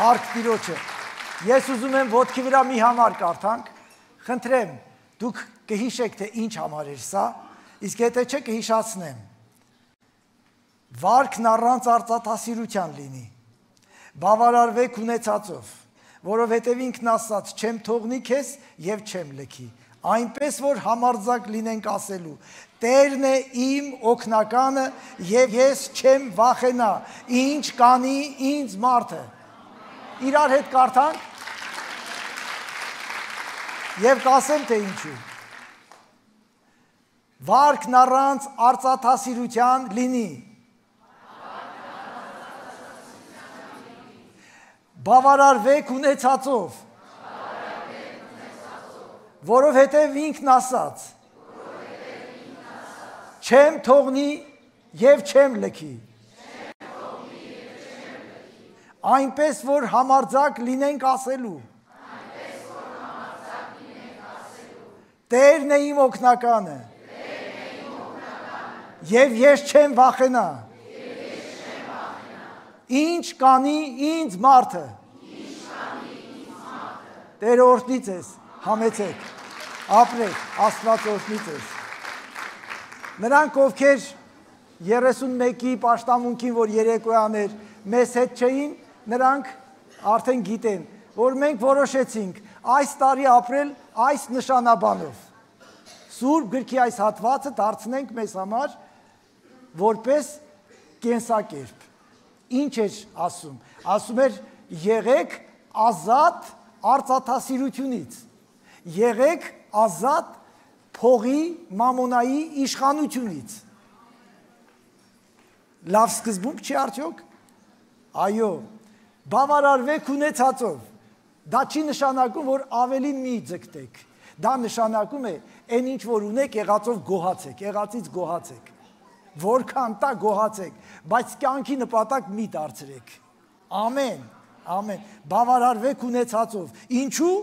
Հարկ տիրոջը։ Ես ուզում եմ ոտքի վրա մի համար կարդանք, խնդրեմ, դուք կհիշեք, թե ինչ համար էր սա, իսկ եթե չէ կհիշացնեմ։ Վարքն առանց արծաթասիրության լինի, բավարարվեք ունեցածով, որովհետև ինքն ասաց, չեմ թողնի քեզ և չեմ լքի, այնպես, որ համարձակ լինենք ասելու, Տերն է իմ օգնականը և ես չեմ վախենա, ինչ կանի ինձ մարդը։ Իրար հետ կարդանք և կասեմ, թե ինչու։ Վարքն առանց արծաթասիրության լինի, բավարարվեք ունեցածով, որովհետև ինքն ասաց, չեմ թողնի և չեմ լքի, այնպես, որ համարձակ լինենք ասելու, Տերն է իմ օգնականը, և ես չեմ վախենա, ինչ կանի ինձ մարդը, Տերը օրհնի ձեզ, համեցեք, ապրեք, Աստված օրհնի ձեզ։ Նրանք, ովքեր 31-ի պաշտամունքին, որ երեկոյան էր, մեզ հետ չէին, նրանք արդեն գիտեն, որ մենք որոշեցինք այս տարի ապրել այս նշանաբանով։ Սուրբ գրքի այս հատվածը դարձնենք մեզ համար որպես կենսակերպ։ Ինչ էր ասում։ Ասում էր եղեք ազատ արծաթասիրությունից, եղեք ազատ փողի մամոնայի իշխանությունից։ Լավ սկզբունք չի արդյոք։ Այո, բավարարվեք ունեցածով։ Դա չի նշանակում, որ ավելին մի ձգտեք։ Դա նշանակում է այն ինչ որ ունեք եղածով գոհացեք, եղածից գոհացեք։ Որքան տա գոհացեք, բայց կյանքի նպատակ մի դարձրեք։ Ամեն, ամեն։ Բավարարվեք ունեցածով։ Ինչու՞,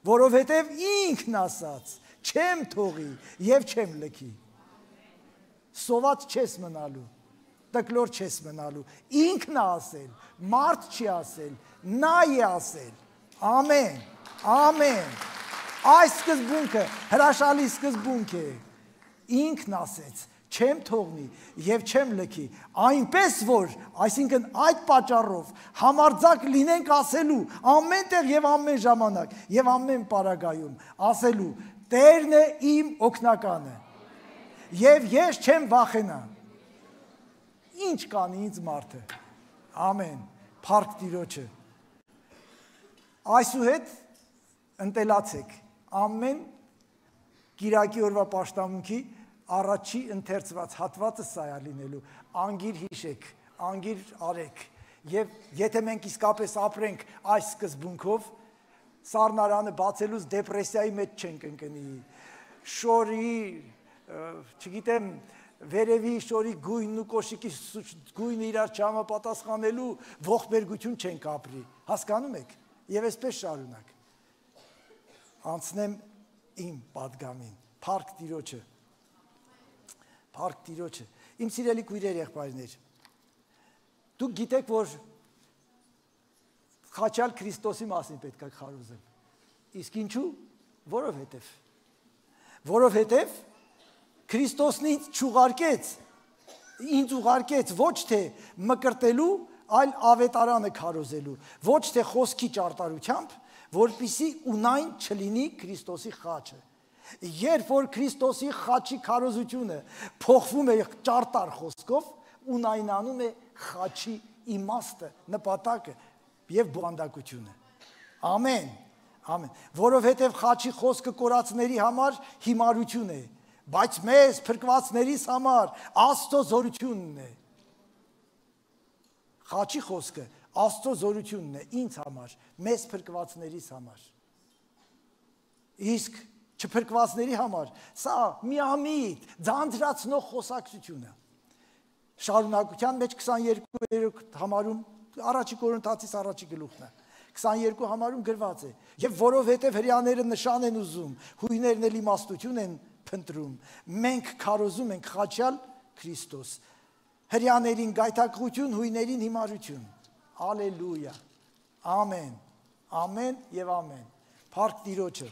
որովհետև ինքն ասաց, չեմ թողի և չեմ լքի։ Սոված չես մնալու, տկլոր չես մնալու, ինքն է ասել, մարդ չի ասել, նա է ասել, ամեն, ամեն, այս սկզբունքը հրաշալի սկզբունք է, ինքն ասեց, չեմ թողնի և չեմ լքի, այնպես որ, այսինքն այդ պատճառով համարձակ լինենք ասելու, ամեն տեղ և ամեն ժամանակ և ամեն պարագայում, ասելու, Տերն է իմ օգնականը, և ես չեմ վախենա, ինչ կանի ինձ մարդը, ամեն, փառք Տիրոջը, այսուհետ ընտելացեք, ամեն կիրակի օրվա պաշտամունքի առաջի ընթերցված հատվածը սա է լինելու, անգիր հիշեք, անգիր արեք, և եթե մենք իսկապես ապրենք այս սկզբունքով, սառնարանը բացելուց դեպրեսիայի մեջ չենք ընկնի, շորի, չգիտեմ, վերևի շորի գույնն ու կոշիկի գույնը իրար չհամապատասխանելու ողբերգություն չենք ապրի, հասկանում եք, և այսպես շարունակ, անցնեմ իմ պատգամին, փառք Տիրոջը, փառք Տիրոջը, իմ սիրելի քույրեր եղբայրներ, դուք գիտեք, որ խաչյալ Քրիստոսի մասին պետք է քարոզել, իսկ ինչու, որովհետև Քրիստոսն ինձ ուղարկեց ոչ թե մկրտելու, այլ ավետարանը քարոզելու, ոչ թե խոսքի ճարտարությամբ, որպեսզի ունայն չլինի Քրիստոսի խաչը։ Երբ որ Քրիստոսի խաչի քարոզությունը փոխվում է ճարտար խոսքով, ունայնանում է խաչի իմաստը, նպատակը և բովանդակությունը։ Ամեն, ամեն, որովհետև խաչի խոսքը կորածների համար հիմարություն է, բայց մեզ փրկվածներիս համար Աստծո զորությունն է։ Խաչի խոսքը Աստծո զորությունն է ինձ համար, մեզ փրկվածներիս համար։ Իսկ չփրկվածների համար սա միամիտ, ձանձրացնող խոսակցություն է։ Շարունակության մեջ 22 համարում, առաջի Կորինթացիս առաջի գլուխն է, 22 համարում գրված է, և որովհետև հրեաները նշան են ուզում, հույներն էլ իմաստություն են փնտրում, մենք քարոզում ենք խաչյալ Քրիստոս, հրեաներին գայթակղություն, հույներին հիմարություն, ալելույա, Ամեն, ամեն եւ ամեն։ Փառք Տիրոջը։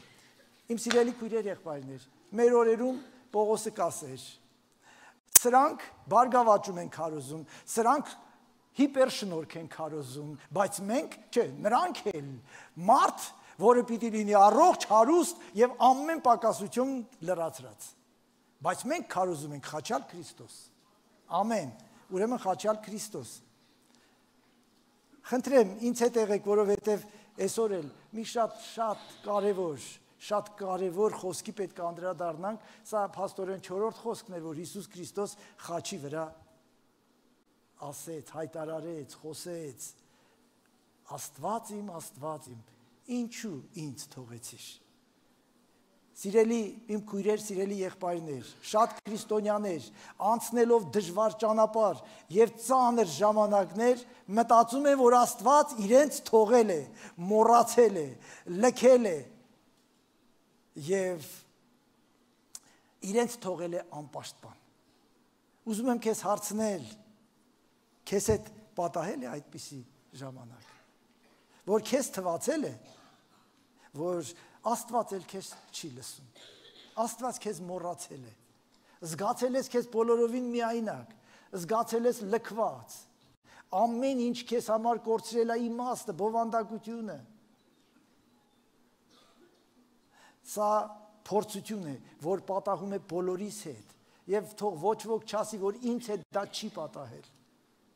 Իմ սիրելի քույրեր, եղբայրներ, մեր օրերում Պողոսը կասեր. սրանք բարգավաճում են քարոզում, սրանք հիպերշնորհք են քարոզում, բայց մենք, չէ, նրանք էլ մարդ, որը պիտի լինի առողջ, հարուստ եւ ամեն պակասություն լրացրած։ Բայց մենք քարոզում ենք խաչյալ Քրիստոս։ Ամեն։ Ուրեմն խաչյալ Քրիստոս։ Խնդրեմ, ինձ հետ եղեք, որովհետև այսօր էլ մի շատ կարևոր խոսքի պետք է անդրադառնանք, սա փաստորեն 4-րդ խոսքն էր, որ Հիսուս Քրիստոս խաչի վրա ասեց, հայտարարեց, խոսեց. Աստված իմ, ինչու ինձ թողեցիր։ Սիրելի իմ քույրեր, սիրելի եղբայրներ, շատ քրիստոնյաներ, անցնելով դժվար ճանապարհ եւ ծանր ժամանակներ, մտածում են, որ Աստված իրենց թողել է, մոռացել է, լքել է եւ իրենց թողել է անպաշտպան։ Ուզում եմ քեզ հարցնել, քեզ հետ պատահել է այդպիսի ժամանակ, որ քեզ թվացել է, որ Աստված էլ քեզ չի լսում, Աստված քեզ մոռացել է, զգացել ես քեզ բոլորովին միայնակ, զգացել ես լքված, ամեն ինչ քեզ համար կորցրել է իմաստը, բովանդակությունը։ Սա փորձություն է, որ պատահում է բոլորիս հետ, եւ թող ոչ ոք չասի, որ ինձ հետ դա չի պատահել։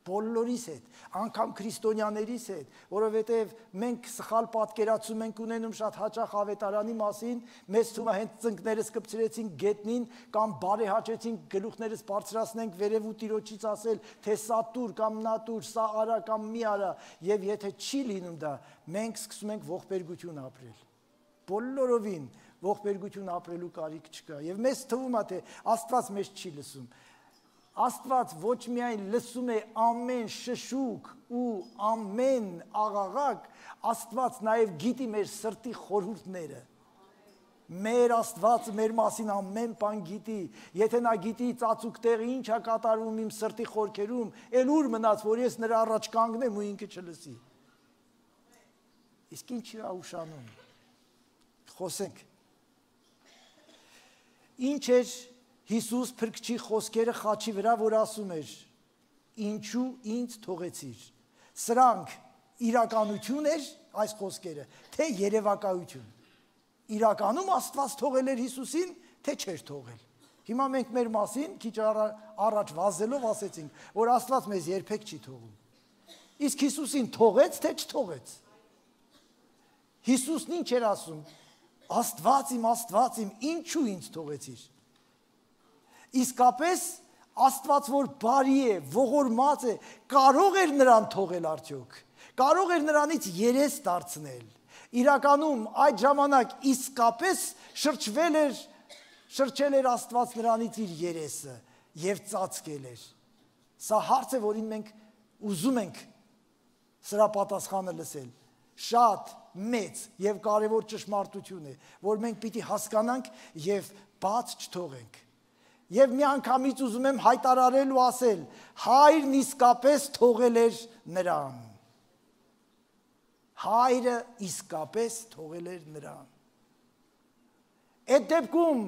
Բոլորիս հետ, անգամ քրիստոնյաներիս հետ, որովհետև մենք սխալ պատկերացում ենք ունենում շատ հաճախ ավետարանի մասին, մեզ թվում է հենց ծնկներս կպցրեցինք գետնին կամ բարեհաճեցինք գլուխներս բարձրացնենք վերև ու Տիրոջից ասել, թե սա տուր կամ նա տուր, սա արա կամ մի արա, եւ եթե չի լինում դա, մենք սկսում ենք ողբերգություն ապրել։ Բոլորովին ողբերգություն ապրելու կարիք չկա, եւ մեզ թվում է, թե Աստված մեզ չի լսում։ Աստված ոչ միայն լսում է ամեն շշուկ ու ամեն աղաղակ, Աստված նաև գիտի մեր սրտի խորհուրդները։ Մեր Աստվածը մեր մասին ամեն բան գիտի։ Եթե նա գիտի ծածուկ տեղը ինչ է կատարվում իմ սրտի խորքերում, էլ ուր մնաց, որ ես նրա առաջ կանգնեմ ու ինքը չլսի։ Իսկ ինչ է ուշանում։ Խոսենք։ Ինչ էր Հիսուս փրկչի խոսքերը խաչի վրա, որ ասում էր. ինչու ինձ թողեցիր։ Սրանք իրականություն էր այս խոսքերը, թե երևակայություն։ Իրականում Աստված թողել էր Հիսուսին, թե չէր թողել։ Հիմա մենք մեր մասին քիչ առաջ վազելով ասեցինք, որ Աստված մեզ երբեք չի թողում։ Իսկ Հիսուսին թողեց, թե չթողեց։ Հիսուսն ինչ էր ասում. Աստված իմ, ինչու ինձ թողեցիր։ Իսկապես Աստված, որ բարի է, ողորմած է, կարող էր նրան թողել արդյոք, կարող էր նրանից երես դարձնել։ Իրականում այդ ժամանակ իսկապես շրջել էր Աստված նրանից իր երեսը եւ ծածկել էր։ Սա հարց է, որին մենք ուզում ենք սրա պատասխանը լսել։ Շատ մեծ եւ կարեւոր ճշմարտություն է, որ մենք պիտի հասկանանք եւ բաց չթողենք։ Եվ մի անգամից ուզում եմ հայտարարել ու ասել. հայրն իսկապես թողել էր նրան։ Հայրը իսկապես թողել էր նրան։ Այդ դեպքում,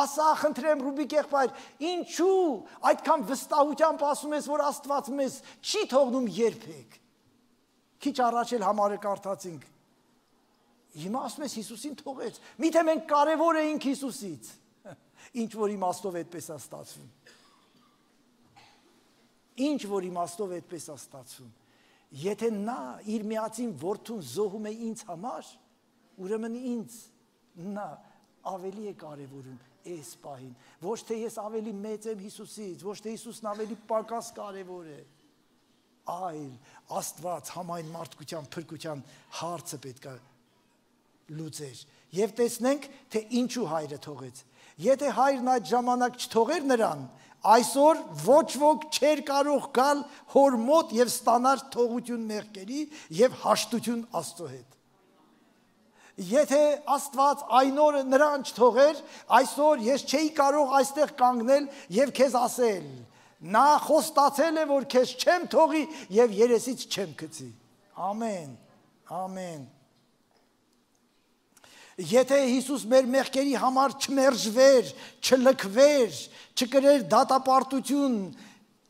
ասա խնդրեմ Ռուբիկ եղբայր, ինչու այդքան վստահությամբ ասում ես, որ Աստված մեզ չի թողնում երբեք։ Քիչ առաջ էլ համարը կարդացինք։ Հիմա ասում ես Հիսուսին թողեց։ Միթե մենք կարևոր էինք Հիսուսից։ Ինչ որ իմաստով այդպես է ստացվում։ Ինչ որ իմաստով այդպես է ստացվում։ Եթե նա իր միածին որդուն զոհում է ինձ համար, ուրեմն ինձ նա ավելի է կարևորում այս պահին։ Ոչ թե ես ավելի մեծ եմ Հիսուսից, ոչ թե Հիսուսն ավելի պակաս կարևոր է, այլ Աստված համայն մարդկության փրկության հարցը պետք է լուծեր։ Եվ տեսնենք, թե ինչու հայրը թողեց։ Եթե հայրն այդ ժամանակ չթողեր նրան, այսօր ոչ ոք չէր կարող գալ հոր մոտ եւ ստանալ թողություն մեղքերի եւ հաշտություն Աստծո հետ։ Եթե Աստված այն օրը նրան չթողեր, այսօր ես չէի կարող այստեղ կանգնել եւ քեզ ասել. նա խոստացել է, որ քեզ չեմ թողի եւ երեսից չեմ գցի։ Ամեն։ Ամեն։ Եթե Հիսուս մեր մեղքերի համար չմերժվեր, չլքվեր, չկրեր դատապարտություն,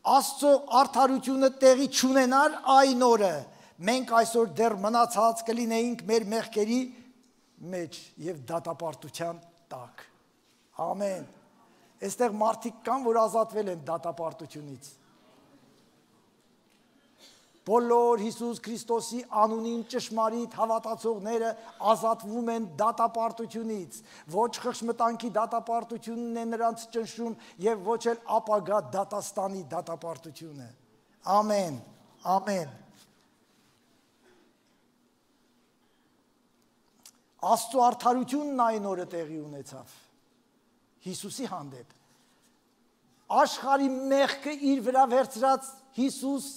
Աստծո արդարությունը տեղի չունենար այն օրը, մենք այսօր դեռ մնացած կլինեինք մեր մեղքերի մեջ եւ դատապարտության տակ։ Ամեն։ Այստեղ մարդիկ կան, որ ազատվել են դատապարտությունից։ Բոլոր Հիսուս Քրիստոսի անունին ճշմարիտ հավատացողները ազատվում են դատապարտությունից։ Ոչ խղճմտանքի դատապարտությունն է նրանց ճնշում եւ ոչ էլ ապագա դատաստանի դատապարտությունը։ Ամեն։ Ամեն։ Աստծո արդարությունն այն օրը տեղի ունեցավ Հիսուսի հանդեպ։ Աշխարհի մեղքը իր վրա վերցրած Հիսուս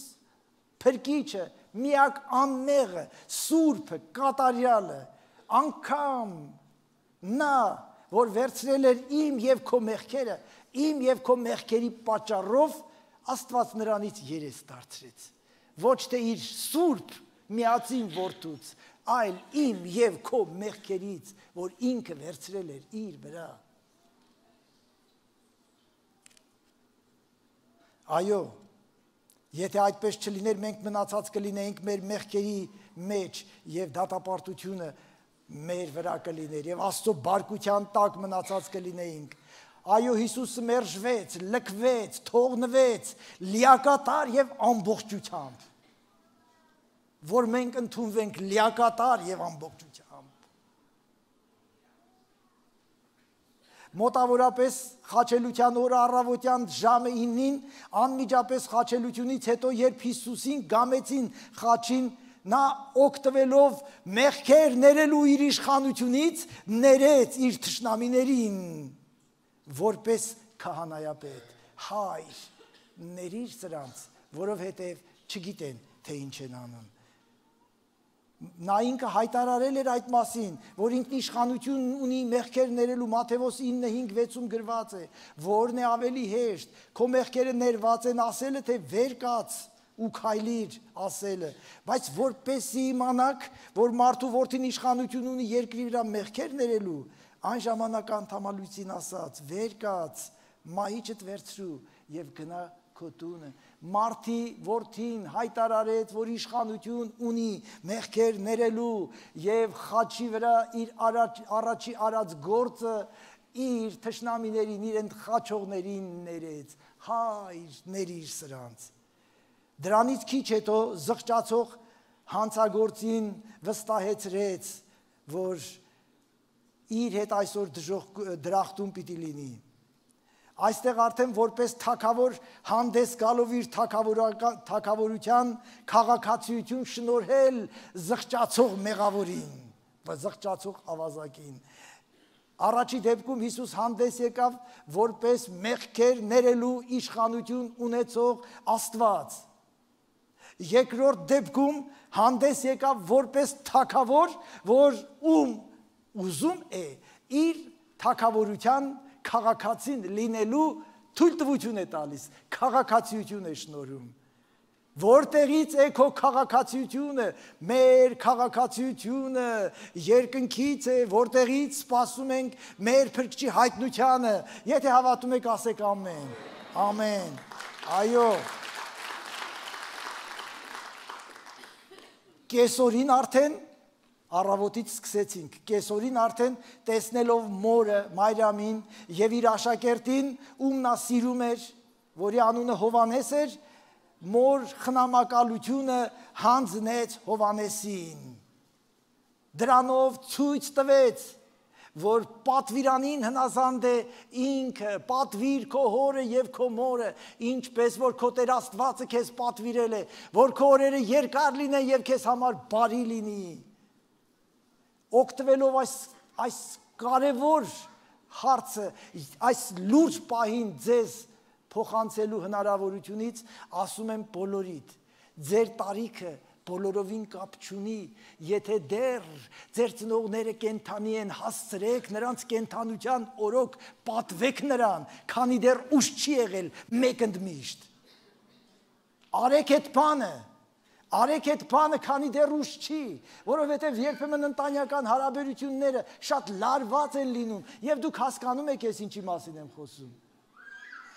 Փրկիչը, միակ անմեղը, սուրբը, կատարյալը, անգամ նա, որ վերցրել էր իմ եւ քո մեղքերը, իմ եւ քո մեղքերի պատճառով Աստված նրանից երես դարձրեց։ Ոչ թե իր սուրբ միածին որդուց, այլ իմ եւ քո մեղքերից, որ ինքը վերցրել էր իր վրա։ Այո, եթե այդպես չլիներ, մենք մնացած կլինեինք մեր մեղքերի մեջ եւ դատապարտությունը մեր վրա կլիներ եւ Աստծո բարկության տակ մնացած կլինեինք։ Այո, Հիսուսը մերժվեց, լքվեց, թողնվեց լիակատար եւ ամբողջությամբ, որ մենք ընդունվենք լիակատար եւ ամբողջությամբ։ Մոտավորապես խաչելության օրը առավոտյան ժամը 9-ին անմիջապես խաչելությունից հետո երբ Հիսուսին գամեցին խաչին, նա օգտվելով մեղքեր ներելու իր իշխանությունից ներեց իր թշնամիներին որպես քահանայապետ։ Հայր, ներիր սրանց, որովհետև չգիտեն, թե ինչ են անում։ Նա ինքը հայտարարել էր այդ մասին, որ ինքն իշխանություն ունի մեղքեր ներելու, Մատթեոս 9:5-6-ում գրված է, որն է ավելի հեշտ, քո մեղքերը ներված են ասելը, թե վեր կաց ու քայլիր ասելը, բայց որպեսզի իմանաք, որ մարդու որդին իշխանություն ունի երկրի վրա մեղքեր ներելու, այն ժամանակ անդամալույցին ասաց, վեր կաց, մահիճդ վերցրու եւ գնա քո տունը։ Մարդի որդին հայտարարեց, որ իշխանություն ունի մեղքեր ներելու եւ խաչի վրա իր առաջի արած գործը իր թշնամիներին, իր ընդխաչողներին ներեց։ Հայր, ներիր սրանց։ Դրանից քիչ հետո զղջացող հանցագործին վստահեցրեց, որ իր հետ այսօր դրախտում պիտի լինի։ Այստեղ արդեն որպես թագավոր հանդես գալով իր թագավորության քաղաքացիություն շնորհել զղջացող մեղավորին, զղջացող ավազակին։ Առաջի դեպքում Հիսուս հանդես եկավ որպես մեղքեր ներելու իշխանություն ունեցող Աստված։ Երկրորդ դեպքում հանդես եկավ որպես թագավոր, որ ուզում է իր թագավորության քաղաքացին լինելու թույլտվություն է տալիս, քաղաքացիություն է շնորհում։ Որտեղից է քո քաղաքացիությունը, մեր քաղաքացիությունը երկնքից է, որտեղից սպասում ենք մեր Փրկչի հայտնությանը։ Եթե հավատում եք, ասեք ամեն։ Ամեն։ Այո։ Կեսօրին արդեն առավոտից սկսեցինք, կեսօրին արդեն տեսնելով մորը, Մարիամին եւ իր աշակերտին, ում նա սիրում էր, որի անունը Հովանես էր, մոր խնամակալությունը հանձնեց Հովանեսին։ Դրանով ցույց տվեց, որ պատվիրանին հնազանդ է ինքը, պատվիր քո հորը եւ քո մորը, ինչպես որ քո Տեր Աստվածը քեզ պատվիրել է, որ քո օրերը երկար լինեն եւ քեզ համար բարի լինի։ Օգտվելով այս կարևոր հարցը, այս լուրջ պահին ձեզ փոխանցելու հնարավորությունից, ասում եմ բոլորիդ, ձեր տարիքը բոլորովին կապ չունի, եթե դեռ ձեր ծնողները կենթանի են, հասցրեք նրանց կենթանության օրոք, պատվեք նրան, քանի դեռ ուշ չի եղել մեկ ընդմիշտ։ Արեք այդ բանը, Արեք այդ բանը, քանի դեռ ուշ չի, որովհետև երբեմն ընտանեկան հարաբերությունները շատ լարված են լինում, եւ դուք հասկանում եք ես ինչի մասին եմ խոսում։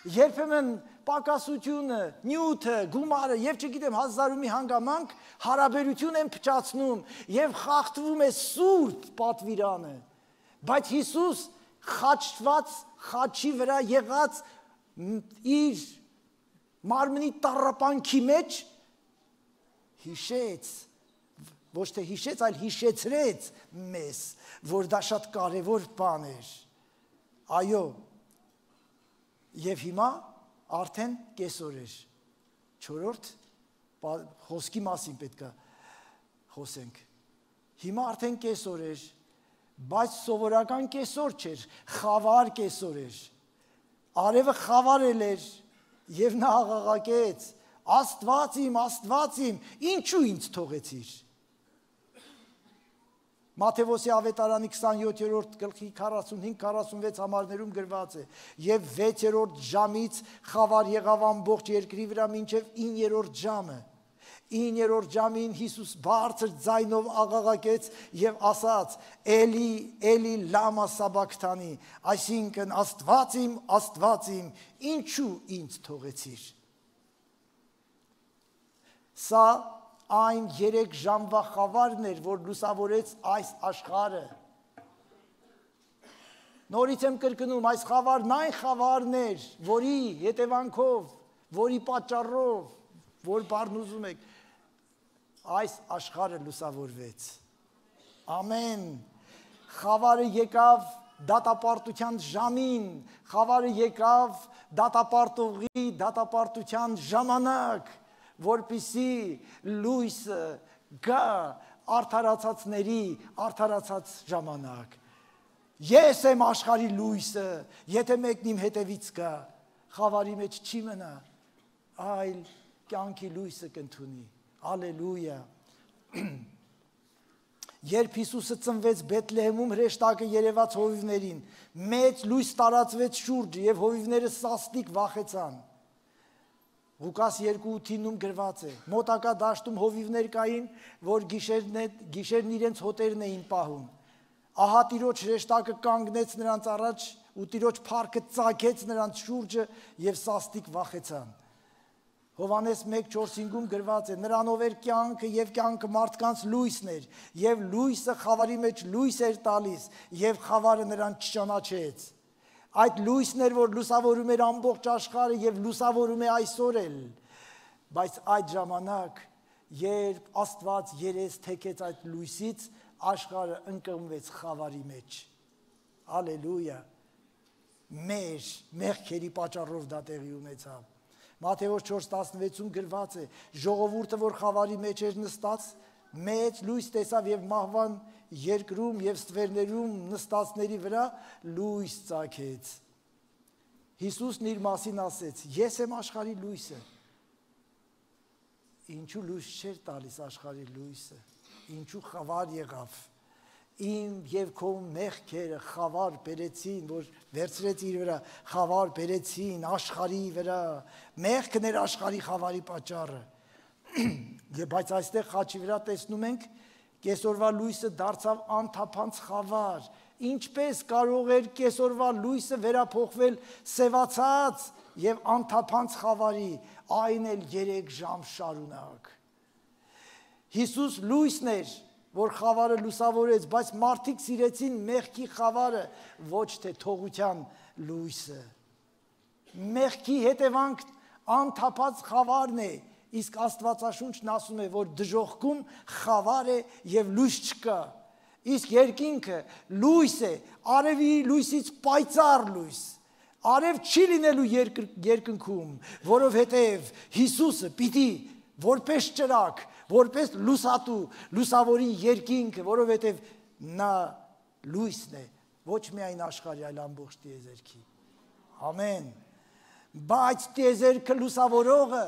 Երբեմն պակասությունը, նյութը, գումարը եւ չգիտեմ հազարումի հանգամանք հարաբերություն են փչացնում եւ խախտվում է սուրբ պատվիրանը։ Բայց Հիսուս խաչված, խաչի վրա եղած իր մարմնի տառապանքի մեջ հիշեց, ոչ թե հիշեց, այլ հիշեցրեց մեզ, որ դա շատ կարևոր բան էր։ Այո, եւ հիմա արդեն կեսօր էր։ 4-րդ խոսքի մասին պետք է խոսենք։ Հիմա արդեն կեսօր էր, բայց սովորական կեսօր չէր, խավար կեսօր էր։ Արևը խավարել էր եւ նա աղաղակեց. Աստված իմ, ինչու ինձ թողեցիր։ Մատթեոսի ավետարանի 27-րդ գլխի 45-46 համարներում գրված է. եւ 6-րդ ժամից խավար եղավ ամբողջ երկրի վրա մինչև 9-րդ ժամը։ 9-րդ ժամին Հիսուս բարձր ձայնով աղաղակեց եւ ասաց. Էլի, Էլի լամա սաբակթանի, այսինքն Աստված իմ, ինչու ինձ թողեցիր։ Սա այն 3 ժամվա խավարն էր, որ լուսավորեց այս աշխարհը։ Նորից եմ կրկնում, այս խավարն այն խավարն էր, որի հետևանքով, որի պատճառով, որ բառն ուզում եք, այս աշխարհը լուսավորվեց։ Ամեն։ Խավարը եկավ դատապարտության ժամին, խավարը եկավ դատապարտողի դատապարտության ժամանակ, որպիսի լույսը գա արդարացածների արդարացած ժամանակ։ Ես եմ աշխարհի լույսը, եթե մեկն իմ հետևից գա, խավարի մեջ չի մնա, այլ կյանքի լույսը կընդունի։ Ալելույա։ Երբ Հիսուսը ծնվեց Բեթլեհեմում, հրեշտակը երևաց հովիվներին, մեծ լույս տարածվեց շուրջը եւ հովիվները սաստիկ վախեցան։ Ղուկաս 2:8-ում գրված է. մոտակա դաշտում հովիվներ կային, որ գիշերն իրենց հոտերն էին պահում։ Ահա Տիրոջ հրեշտակը կանգնեց նրանց առաջ ու Տիրոջ փառքը ծագեց նրանց շուրջը եւ սաստիկ վախեցան։ Հովհաննես 1:4-5-ում գրված է. նրանով էր կյանքը եւ կյանքը մարդկանց լույսն էր եւ լույսը խավարի մեջ լույս էր տալիս եւ խավարը նրան չճանաչեց։ Այդ լույսն էր, որ լուսավորում էր ամբողջ աշխարհը եւ լուսավորում է այսօր էլ։ Բայց այդ ժամանակ, երբ Աստված երես թեքեց այդ լույսից, աշխարհը ընկղմվեց խավարի մեջ։ Ալելույա։ Մեր մեղքերի պատճառով դա տեղի ունեցավ։ Մատթեոս 4:16-ում գրված է. ժողովուրդը, որ խավարի մեջ էր նստած, մեծ լույս տեսավ եւ մահվան երկրում եւ ստվերներում նստածների վրա լույս ծագեց։ Հիսուսն իր մասին ասեց. ես եմ աշխարհի լույսը։ Ինչու լույս չէր տալիս աշխարհի լույսը, ինչու խավար եղավ։ Իմ եւ քո մեղքերը խավար բերեցին, որ վերցրեց իր վրա, խավար բերեցին աշխարհի վրա։ Մեղքն էր աշխարհի խավարի պատճառը։ Բայց այստեղ խաչի վրա տեսնում ենք, կեսօրվա լույսը դարձավ անթափանց խավար։ Ինչպես կարող էր կեսօրվա լույսը վերափոխվել սևացած եւ անթափանց խավարի, այն էլ 3 ժամ շարունակ։ Հիսուս լույսն էր, որ խավարը լուսավորեց, բայց մարդիկ սիրեցին մեղքի խավարը, ոչ թե թողության լույսը։ Մեղքի հետևանք անթափած խավարն է, իսկ Աստվածաշունչն ասում է, որ դժոխքում խավար է եւ լույս չկա։ Իսկ երկինքը լույս է, արևի լույսից պայծառ լույս։ Արև չի լինելու երկնքում, որովհետև Հիսուսը պիտի որպես ճրակ, որպես լուսատու, լուսավորի երկինքը, որովհետև նա լույսն է, ոչ միայն աշխարհի, այլ ամբողջ տիեզերքի։ Ամեն։ Բայց տիեզերքը լուսավորողը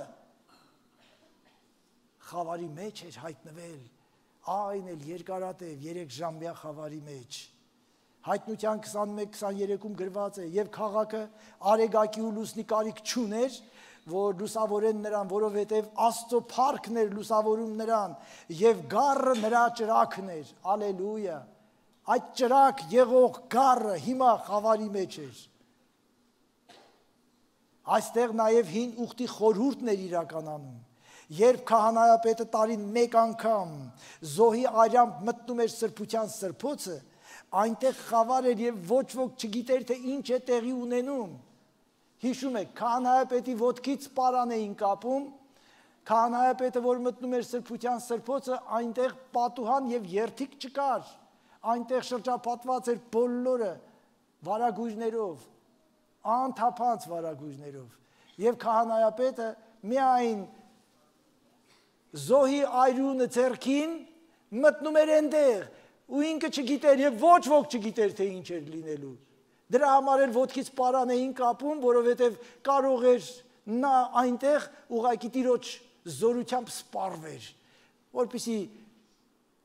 խավարի մեջ էր հայտնվել, այն էլ երկարատև 3 ժամվա խավարի մեջ։ Հայտնության 21-23-ում գրված է, եւ քաղաքը արեգակի ու լուսնի կարիք չուներ, որ լուսավորեն նրան, որովհետև Աստծո փառքն էր լուսավորում նրան, եւ գառը նրա ճրակն էր, ալելույա, այդ ճրակ եղող գառը հիմա խավարի մեջ էր, այստեղ նաեւ հին ուխտի խորհուրդն էր իրականանում, երբ քահանայապետը տարին մեկ անգամ զոհի արյամբ մտնում էր սրբության սրբոցը, այնտեղ խավար էր եւ ոչ ոք չգիտեր թե ինչ է տեղի ունենում, հիշում եք, քահանայապետի ոտքից պարան էին կապում, քահանայապետը, որ մտնում էր սրբության սրբոցը, այնտեղ պատուհան եւ երթիկ չկար, այնտեղ շրջապատված էր բոլորը վարագույրներով, անթափանց վարագույրներով, եւ քահանայապետը միայն զոհի այրունը ձեռքին մտնում էր այնտեղ, ու ինքը չգիտեր եւ ոչ ոք չգիտեր թե ինչ էր լինելու, դրա համար էլ ոտքից պարան էին կապում, որովհետև կարող էր նա այնտեղ ուղղակի Տիրոջ զորությամբ սպառվեր, որպեսզի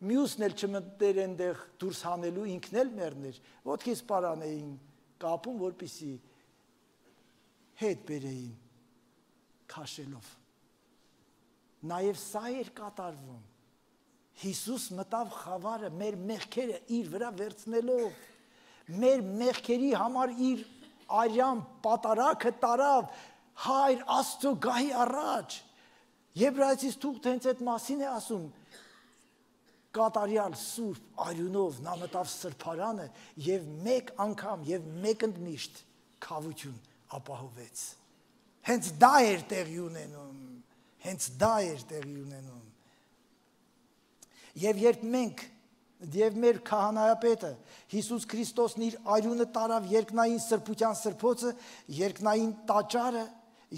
մյուսն էլ չմտներ այնտեղ դուրս հանելու, ինքն էլ մեռներ, ոտքից պարան էին կապում, որպեսզի հետ բերեին քաշելով։ Նաև սա էր կատարվում։ Հիսուս մտավ խավարը մեր մեղքերը իր վրա վերցնելով, մեր մեղքերի համար իր արյան պատարակը տարավ Հայր Աստծո գահի առաջ։ Եբրայեցիս թուղթը հենց այդ մասին է ասում, կատարյալ սուրբ արյունով նա մտավ սրբարանը եւ մեկ անգամ եւ մեկընդմիշտ քավություն ապահովեց։ Հենց դա էր տեղի ունենում, հենց դա էր տեղի ունենում։ Եվ երբ մենք եւ մեր քահանայապետը Հիսուս Քրիստոսն իր արյունը տարավ երկնային սրբության սրբոցը, երկնային տաճարը,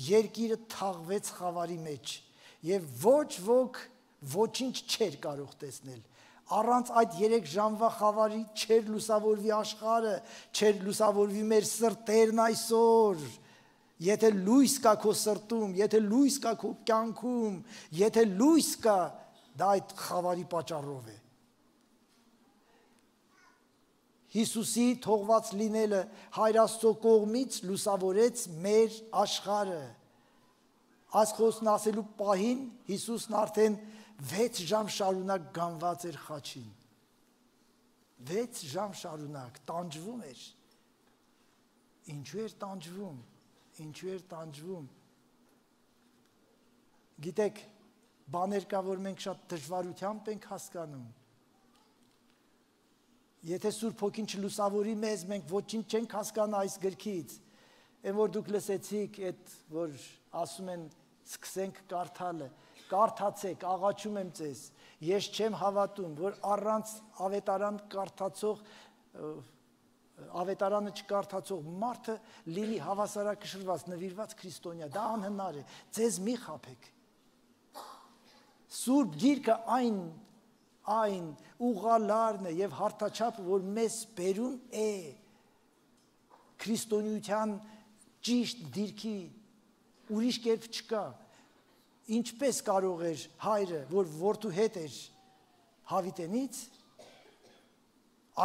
երկիրը թաղվեց խավարի մեջ եւ ոչ ոք ոչինչ չէր կարող տեսնել։ Առանց այդ 3 ժամվա խավարի չէր լուսավորվի աշխարհը, չէր լուսավորվի մեր սրտերն այսօր։ Եթե լույս կա քո սրտում, եթե լույս կա քո կյանքում, եթե լույս կա, դա այդ խավարի պատճառով է։ Հիսուսի թողված լինելը Հայր Աստծո կողմից լուսավորեց մեր աշխարհը։ Այս խոսքն ասելու պահին Հիսուսն արդեն 6 ժամ շարունակ գանված էր խաչին։ 6 ժամ շարունակ տանջվում էր։ Ինչու էր տանջվում։ Ինչու էր տանջվում։ Գիտեք, բաներ կա, որ մենք շատ դժվարությամբ ենք հասկանում։ Եթե Սուրբ Հոգին չլուսավորի մեզ, մենք ոչինչ չենք հասկանա այս գրքից։ Այն որ դուք լսեցիք, այդ որ ասում են սկսենք կարդալը, կարդացեք, աղաչում եմ ձեզ։ Ես չեմ հավատում, որ առանց ավետարան կարդացող ավետարանը չկարդացող մարդը լինի հավասարակշռված, նվիրված քրիստոնյա, դա անհնար է, ձեզ մի խաբեք։ Սուրբ Գիրքը այն ուղղալարն է եւ հարթաչափը, որ մեզ բերում է քրիստոնեության ճիշտ դիրքի, ուրիշ կերպ չկա։ Ինչպես կարող էր հայրը, որ որդու հետ էր հավիտենից,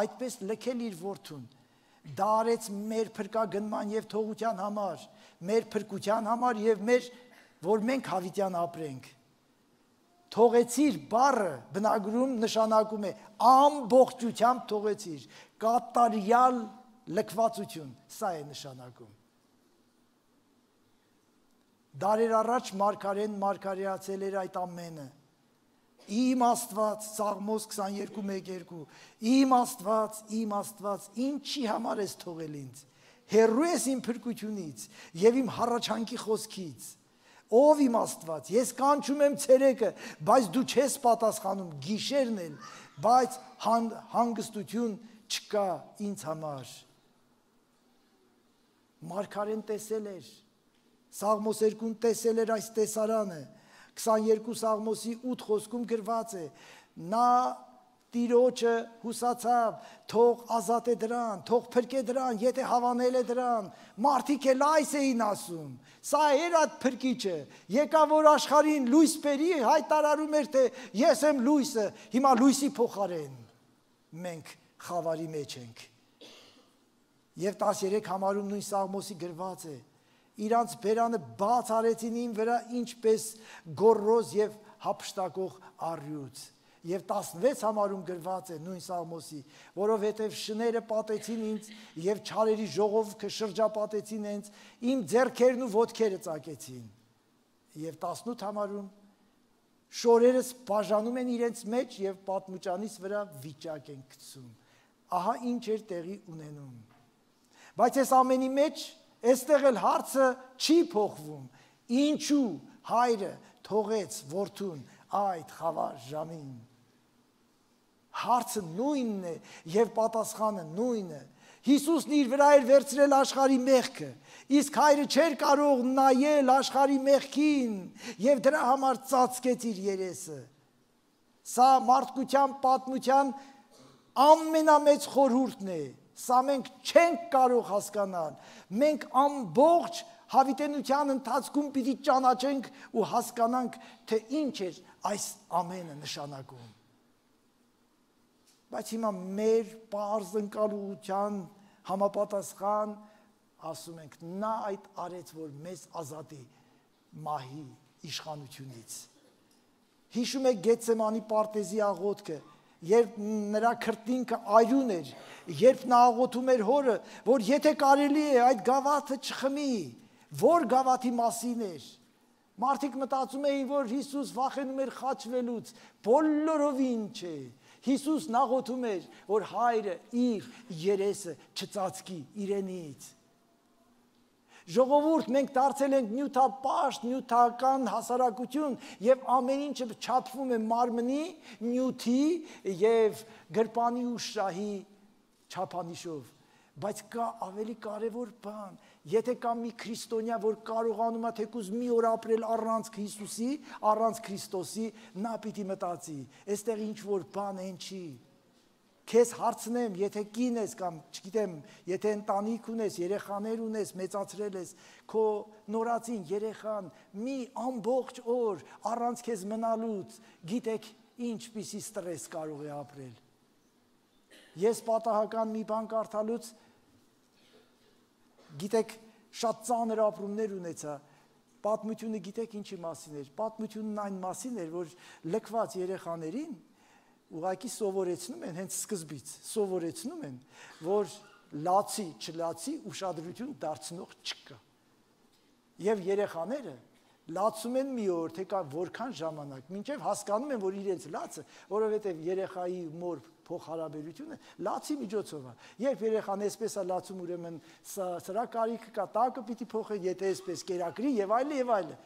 այդպես լքել իր որդուն, դա արեց մեր փրկագնման եւ թողության համար, մեր փրկության համար եւ մեր, որ մենք հավիտյան ապրենք։ Թողեցիր բառը բնագրում նշանակում է ամբողջությամբ թողեցիր, կատարյալ լքվածություն, սա է նշանակում։ Դարեր առաջ մարգարեն մարգարեացել էր այդ ամենը։ Իմ Աստված, Սաղմոս 22:1-2, իմ Աստված, ինչի համար ես թողել ինձ, հեռու ես իմ փրկությունից եւ իմ հառաչանքի խոսքից, ով իմ Աստված, ես կանչում եմ ցերեկը, բայց դու չես պատասխանում, գիշերն էլ, բայց հանգստություն չկա ինձ համար։ Մարգարեն տեսել էր, Սաղմոս 2-ն տեսել էր այս տեսարանը, 22 Սաղմոսի 8 խոսքում գրված է, նա Տիրոջը հուսացավ, թող ազատե դրան, թող փրկե դրան, եթե հավանել է դրան, մարդիկ էլ այս էին ասում, սա էր այդ փրկիչը, եկա որ աշխարհին լույս բերի, հայտարարում էր թե ես եմ լույսը, հիմա լույսի փոխարեն մենք խավարի մեջ ենք։ Եվ 13 համարում նույն Սաղմոսի գրված է, իրանց բերանը բաց արեցին իմ վրա ինչպես գոռոզ եւ հափշտակող առյուծ։ Եվ 16 համարում գրված է նույն Սաղմոսի, որովհետև շները պատեցին ինձ եւ չարերի ժողովքը շրջապատեցին ինձ, իմ ձեռքերն ու ոտքերը ծակեցին։ Եվ 18 համարում շորերս բաժանում են իրենց մեջ եւ պատմուճանից վրա վիճակ են գցում։ Ահա ինչ էր տեղի ունենում։ Բայց այս ամենի մեջ այստեղ էլ հարցը չի փոխվում։ Ինչու հայրը թողեց որդուն այդ խավար ժամին։ Հարցը նույնն է եւ պատասխանը նույնը։ Հիսուսն իր վրա էր վերցրել աշխարհի մեղքը, իսկ հայրը չէր կարող նայել աշխարհի մեղքին եւ դրա համար ծածկեց իր երեսը։ Սա մարդկության պատմության ամենամեծ խորհուրդն է։ Սա մենք չենք կարող հասկանալ։ Մենք ամբողջ հավիտենության ընթացքում պիտի ճանաչենք ու հասկանանք, թե ինչ էր այս ամենը նշանակում։ Բայց հիմա մեր պարզ ընկալության համապատասխան ասում ենք, նա այդ արեց, որ մեզ ազատի մահի իշխանությունից։ Հիշում եք Գեթսեմանի պարտեզի աղոթքը, երբ նրա քրտինքը արյուն էր, երբ նա աղոթում էր հորը, որ եթե կարելի է այդ գավաթը չխմի, որ գավաթի մասին էր։ Մարդիկ մտածում էին, որ Հիսուս վախենում էր խաչվելուց, բոլորովին չէ։ Հիսուսն աղոթում էր, որ հայրը իր երեսը չծածկի իրենից։ Ժողովուրդ, մենք դարձել ենք նյութապաշտ, նյութական հասարակություն եւ ամեն ինչը չափվում է մարմնի, նյութի եւ գրպանի ու շահի չափանիշով։ Բայց կա ավելի կարևոր բան, եթե կա մի քրիստոնյա, որ կարողանում է թեկուզ մի օր ապրել առանց Հիսուսի, առանց Քրիստոսի, նա պիտի մտածի, այստեղ ինչ որ բան են չի։ Քեզ հարցնեմ, եթե կին ես կամ չգիտեմ, եթե ընտանիք ունես, երեխաներ ունես, մեծացրել ես, քո նորածին երեխան մի ամբողջ օր առանց քեզ մնալուց, գիտեք ինչպիսի ստրես կարող է ապրել։ Ես պատահական մի բան կարդալուց, գիտեք, շատ ծանր ապրումներ ունեցա, պատմությունը գիտեք ինչի մասին էր, պատմությունն այն մասին էր, որ լքված երեխաներին ուղղակի սովորեցնում են, հենց սկզբից սովորեցնում են, որ լացի, չլացի ուշադրություն դարձնող չկա։ Եվ երեխաները լացում են մի օր, թե կա որքան ժամանակ, մինչև հասկանում են, որ իրենց լացը, որովհետև երեխայի մոր փոխհարաբերությունը լացի միջոցով է։ Երբ երեխան այսպես է լացում, ուրեմն սրա կարիքը կա, տակը պիտի փոխել, եթե այսպես կերակրի եւ այլն եւ այլն։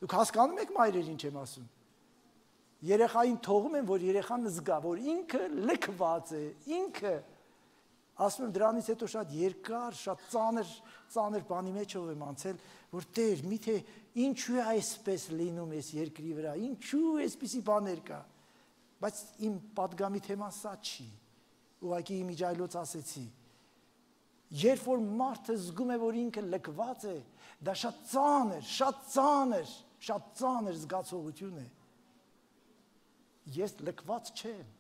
Դուք հասկանում եք մայրեր ինչ եմ ասում։ Երեխային թողում են, որ երեխան զգա, որ ինքը լքված է, ինքը ասում եմ դրանից հետո շատ երկար, շատ ծանր բանի մեջով եմ անցել, որ Տեր, միթե ինչու է այսպես լինում այս երկրի վրա, ինչու այսպիսի բաներ կա, բայց իմ պատգամի թեման սա չի, ուղղակի իմիջայլոց ասեցի, երբ որ մարդը զգում է, որ ինքը լքված է, դա շատ ծանր զգացողություն է, ես լքված չեմ,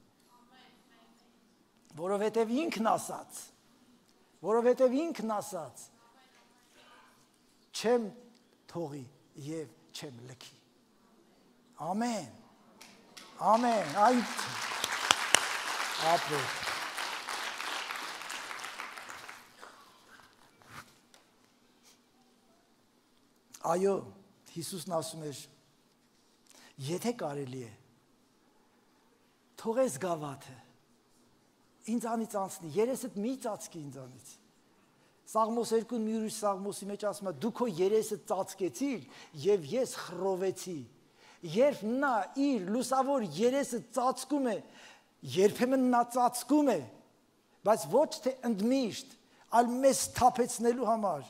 որովհետև ինքն ասաց, չեմ թողի և չեմ լքի, ամեն, այդ ապրել, այո, Հիսուսն ասում էր, եթե կարելի է, թողես գավաթը, ինձանից անցնի, երեսդ մի ծածկի ինձանից, Սաղմոս 2-ն մի ուրիշ Սաղմոսի մեջ ասում է, դու քո երեսը ծածկեցիր և ես խռովեցի, երբ նա իր լուսավոր երեսը ծածկում է, երբեմն նա ծածկում է, բայց ոչ թե ընդմիշտ, այլ մեզ թափեցնելու համար,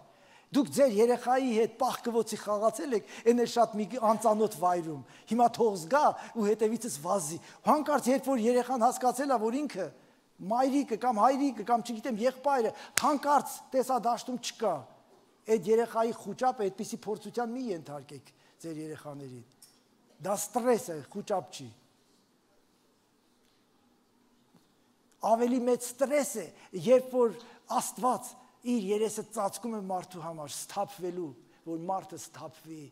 դուք ձեր երեխայի հետ պահկվոցի խաղացել եք, այն է շատ մի անծանոթ վայրում, հիմա թող զգա ու հետևիցս վազի, հանկարծ երբ որ երեխան հասկացել է, որ ինքը մայրիկը կամ հայրիկը կամ չգիտեմ եղբայրը հանկարծ տեսադաշտում չկա, այդ երեխայի խուճապը այդպիսի փորձության մի ենթարկեք ձեր երեխաներին, դա ստրես է, խուճապ չի, ավելի մեծ ստրես է, երբ որ Աստված իր երեսը ծածկում է մարդու համար սթափվելու, որ մարդը սթափվի,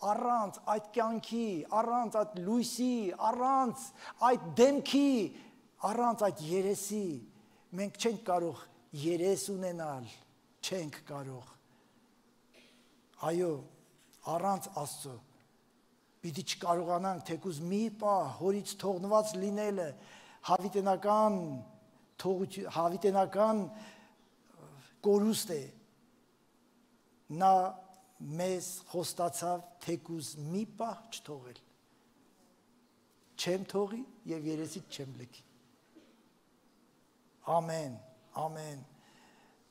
առանց այդ կյանքի, առանց այդ լույսի, առանց այդ դեմքի, առանց այդ երեսի, մենք չենք կարող երես ունենալ, չենք կարող, այո, առանց Աստծո, պիտի չկարողանանք թեկուզ մի պահ հորից թողնված լինելը, հավիտենական կորուստ է, նա մեզ խոստացավ թեկուզ մի պահ չթողել, չեմ թողի և երեսից չեմ լքի, ամեն, ամեն,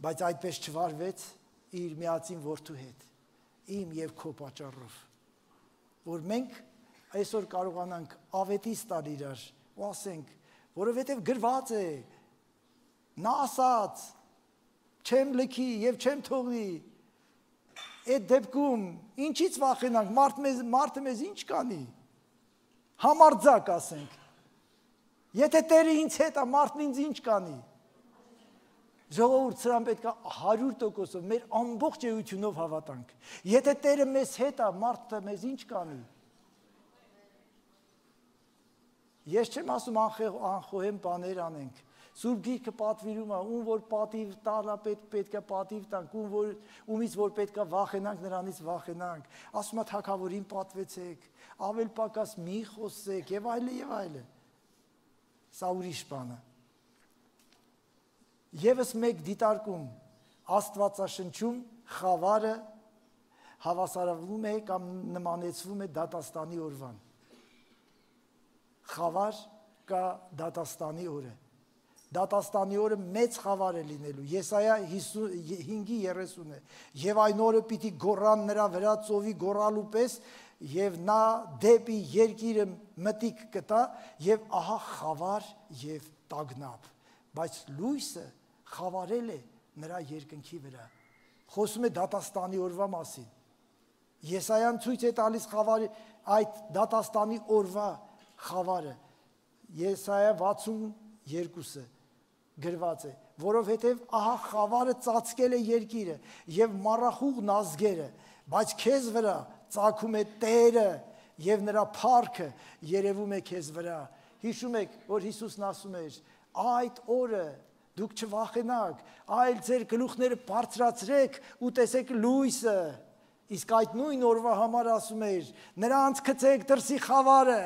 բայց այդպես չվարվեց իր միածին որդու հետ, իմ և քո պատճառով, որ մենք այսօր կարողանանք ավետիս տալ իրար ու ասենք, որովհետև գրված է, նա ասաց, չեմ լքի և չեմ թողնի, այդ դեպքում ինչից վախենանք, մարդը մեզ ինչ կանի, համարձակ ասենք, եթե Տերը ինձ հետ է, մարդն ինձ ինչ կանի, ժողովուրդ սրան պետք է 100%-ով մեր ամբողջ էությունով հավատանք, եթե Տերը մեզ հետ է, մարդը մեզ ինչ կանի, ես չեմ ասում անխոհեմ բաներ անենք, Սուրբ Գիրքը պատվիրում է, ում որ պատիվ տալա պետք է պատիվ տանք, ումից որ պետք է վախենանք, նրանից վախենանք, ասում է թագավորին պատվեցեք, ավել պակաս մի խոսեք և այլը և այլը, սա ուրիշ բան է, ևս մեկ դիտարկում, Աստվածաշնչում խավարը հավասարվում է կամ նմանեցվում է դատաստանի օրվան, խավար կա դատաստանի օրը, դատաստանի օրը մեծ խավար է լինելու, Եսայա 5:30 է, և այն օրը պիտի գոռան նրա վրա ծովի գոռալու պես, և նա դեպի երկիրը մտիկ կտա, և ահա խավար և տագնապ, բայց լույսը խավարել է նրա երկնքի վրա, խոսում է դատաստանի օրվա մասին, Եսայան ցույց է տալիս այդ դատաստանի օրվա խավարը, Եսայա 62-ը գրված է, որովհետև ահա խավարը ծածկել է երկիրը և մառախուղն ազգերը, բայց քեզ վրա ծագում է Տերը և նրա փառքը երևում է քեզ վրա, հիշում եք, որ Հիսուսն ասում էր, այդ օրը դուք չվախենաք, այլ ձեր գլուխները բարձրացրեք ու տեսեք լույսը, իսկ այդ նույն օրվա համար ասում էր, նրանց գցեք դրսի խավարը,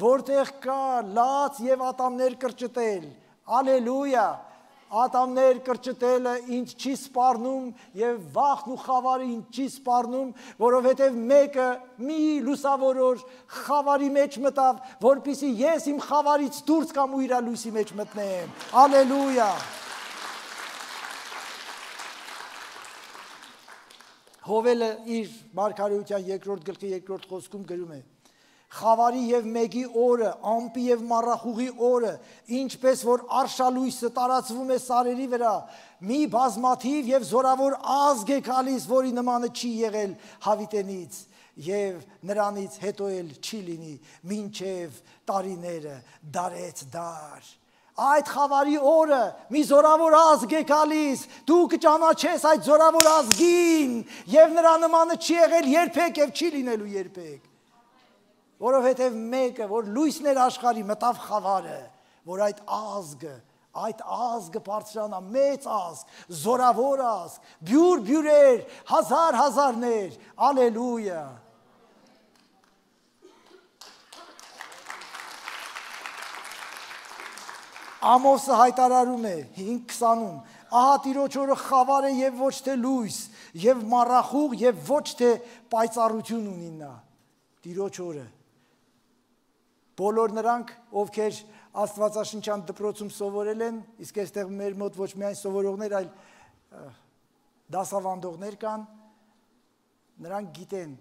որտեղ կա լաց և ատամներ կրճտել, ալելույա, ատամներ կրճտելը ինձ չի սպառնում և վախն ու խավարը ինձ չի սպառնում, որովհետև մեկը մի լուսավոր օր խավարի մեջ մտավ, որպեսզի ես իմ խավարից դուրս կամ ու իր լույսի մեջ մտնեմ, ալելույա, Հովելը իր մարգարեության 2-րդ գլխի 2-րդ խոսքում գրում է, խավարի և մեգի օրը, ամպի և մառախուղի օրը, ինչպես որ արշալույսը տարածվում է սարերի վրա, մի բազմաթիվ և զորավոր ազգ է գալիս, որի նմանը չի եղել հավիտենից, և նրանից հետո էլ չի լինի, մինչև տարիները դարեց դար։ Այդ խավարի օրը մի զորավոր ազգ է գալիս, դու կճանաչես այդ զորավոր ազգին, և նրա նմանը չի եղել երբեք և չի լինելու երբեք։ Որովհետև մեկը, որ լույսն էր աշխարհի, մտավ խավարը, որ այդ ազգը բարձրանա, մեծ ազգ, զորավոր ազգ, բյուրեր, հազարներ, ալելույա։ Ամոսը հայտարարում է 5:20-ում, ահա Տիրոջ օրը խավար է և ոչ թե լույս, և մառախուղ և ոչ թե պայծառություն ունի նա, Տիրոջ օրը։ Բոլոր նրանք, ովքեր Աստվածաշնչյան դպրոցում սովորել են, իսկ այստեղ մեր մոտ ոչ միայն սովորողներ, այլ դասավանդողներ կան, նրանք գիտեն,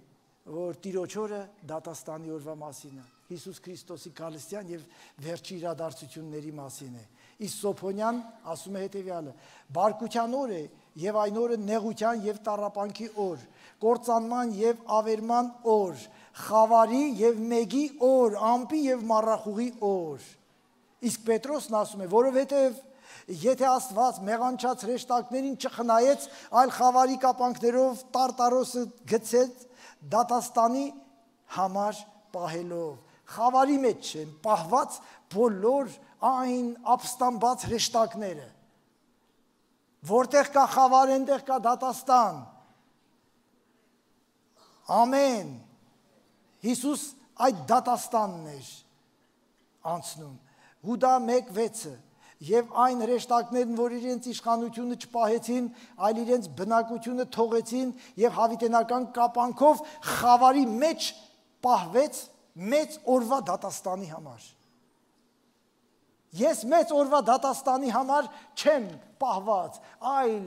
որ Տիրոջ օրը դատաստանի օրվա մասին է, Հիսուս Քրիստոսի գալստյան և վերջի իրադարձությունների մասին է։ Իսկ Սոփոնյան ասում է հետևյալը. բարկության օր է և այն օրը նեղության և տառապանքի օր, կործանման և ավերման օր, խավարի և մեգի օր, ամպի և մառախուղի օր։ Իսկ Պետրոսն ասում է, որովհետև Եթե Աստված մեղանչած հրեշտակներին չխնայեց, այլ խավարի կապանքներով Տարտարոսը գցեց դատաստանի համար պահելով։ Խավարի մեջ չեն պահված բոլոր այն ապստամբած հրեշտակները։ Որտեղ կա խավար, այնտեղ կա դատաստան։ Ամեն։ Հիսուս այդ դատաստանն էր անցնում։ Հուդա 1:6 Եվ այն հրեշտակներն, որ իրենց իշխանությունը չպահեցին, այլ իրենց բնակությունը թողեցին եւ հավիտենական կապանքով խավարի մեջ պահվեց մեծ օրվա դատաստանի համար։ Ես մեծ օրվա դատաստանի համար չեմ պահված, այլ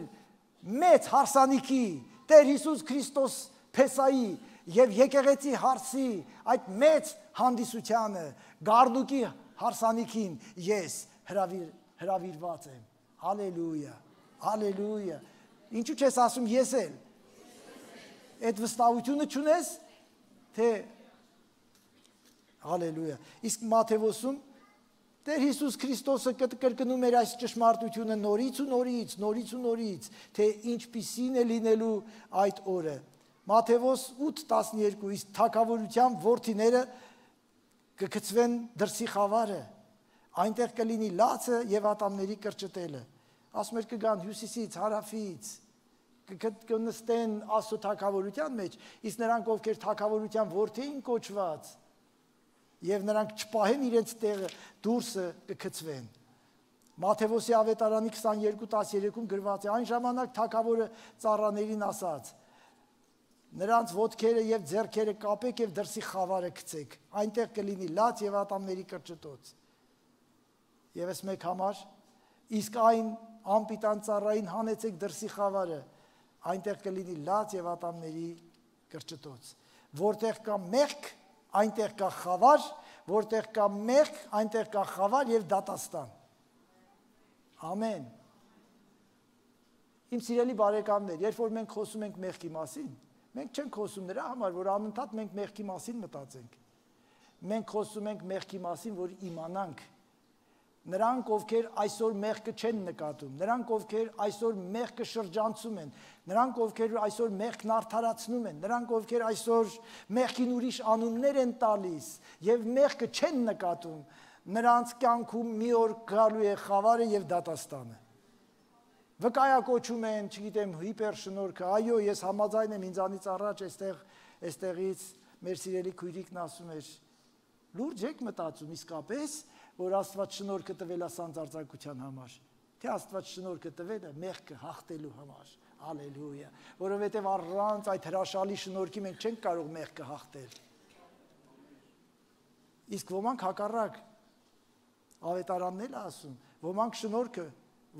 մեծ հարսանիքի Տեր Հիսուս Քրիստոս Փեսայի եւ եկեղեցի հարսի այդ մեծ հանդիսությանը գարդուկի հարսանիքին ես հրավիրված եմ։ Հալելույա, հալելույա։ Ինչու չես ասում ես էլ։ Այդ վստահությունը չունես, թե հալելույա։ Իսկ Մատթեոսում Տեր Հիսուս Քրիստոսը կրկնում էր այս ճշմարտությունը նորից ու նորից, թե ինչպիսին է լինելու այդ օրը։ Մատթեոս 8:12 իսկ թագավորության որդիները կգցվեն դրսի խավարը, այնտեղ կլինի լացը եւ ատամների կրճտելը։ Ասում էր կգան հյուսիսից, հարավից, կնստեն Աստծո թագավորության մեջ, իսկ նրանք ովքեր թագավորության որդի էին կոչված, եւ նրանք չպահեն իրենց տեղը, դուրսը կգցվեն։ Մատթեոսի ավետարանի 22:13-ում գրված է. այն ժամանակ թագավորը ծառաներին ասաց. նրանց ոտքերը եւ ձեռքերը կապեք եւ դրսի խավարը գցեք, այնտեղ կլինի լաց եւ ատամների կրճտոց։ Եվս մեկ համար, իսկ այն անպիտան ծառային հանեցեք դրսի խավարը, այնտեղ կլինի լաց եւ ատամների կրճտոց։ Որտեղ կա մեղք, այնտեղ կա խավար, որտեղ կա մեղք, այնտեղ կա խավար եւ դատաստան։ Ամեն։ Իմ սիրելի բարեկամներ, երբ որ մենք խոսում ենք մեղքի մասին, մենք չենք խոսում նրա համար, որ անընդհատ մենք մեղքի մասին մտածենք։ Մենք խոսում ենք մեղքի մասին, որ իմանանք։ Նրանք, ովքեր այսօր մեղքը չեն նկատում, նրանք, ովքեր այսօր մեղքը շրջանցում են, նրանք, ովքեր այսօր մեղքն արդարացնում են, նրանք, ովքեր այսօր մեղքին ուրիշ անուններ են տալիս եւ մեղքը չեն նկատում, նրանց կյանքում մի օր գալու է խավարը եւ դատաստանը։ Վկայակոչում են, չգիտեմ, հիպերշնորհքը, այո, ես համաձայն եմ ինձանից առաջ այստեղից մեր սիրելի քույրիկն ասում էր, լուրջ եք մտածում իսկապես, որ Աստված շնորհքը տվել է սանձարձակության համար, թե Աստված շնորհքը տվել է մեղքը հաղթելու համար, հալելույա, որովհետև առանց այդ հրաշալի շնորհքի մենք չենք կարող մեղքը հաղթել։ Իսկ ոմանք հակառակ ավետարանն էլ ասում, ոմանք շնորհքը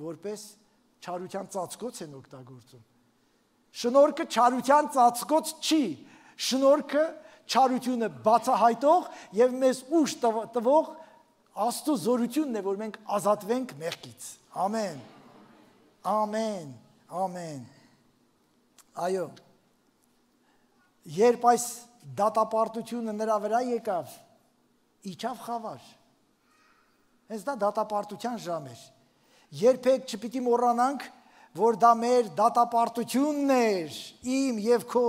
որպես չարության ծածկոց են օգտագործում։ Շնորհքը չարության ծածկոց չի, շնորհքը չարությունը բացահայտող եւ մեզ ուժ տվող Աստծո զորությունն է, որ մենք ազատվենք մեղքից։ Ամեն։ Ամեն։ Ամեն։ Այո։ Երբ այս դատապարտությունը նրա վրա եկավ, իջավ խավար։ Հենց դա դատապարտության ժամ էր։ Երբեք չպիտի մոռանանք, որ դա մեր դատապարտությունն էր, իմ եւ քո։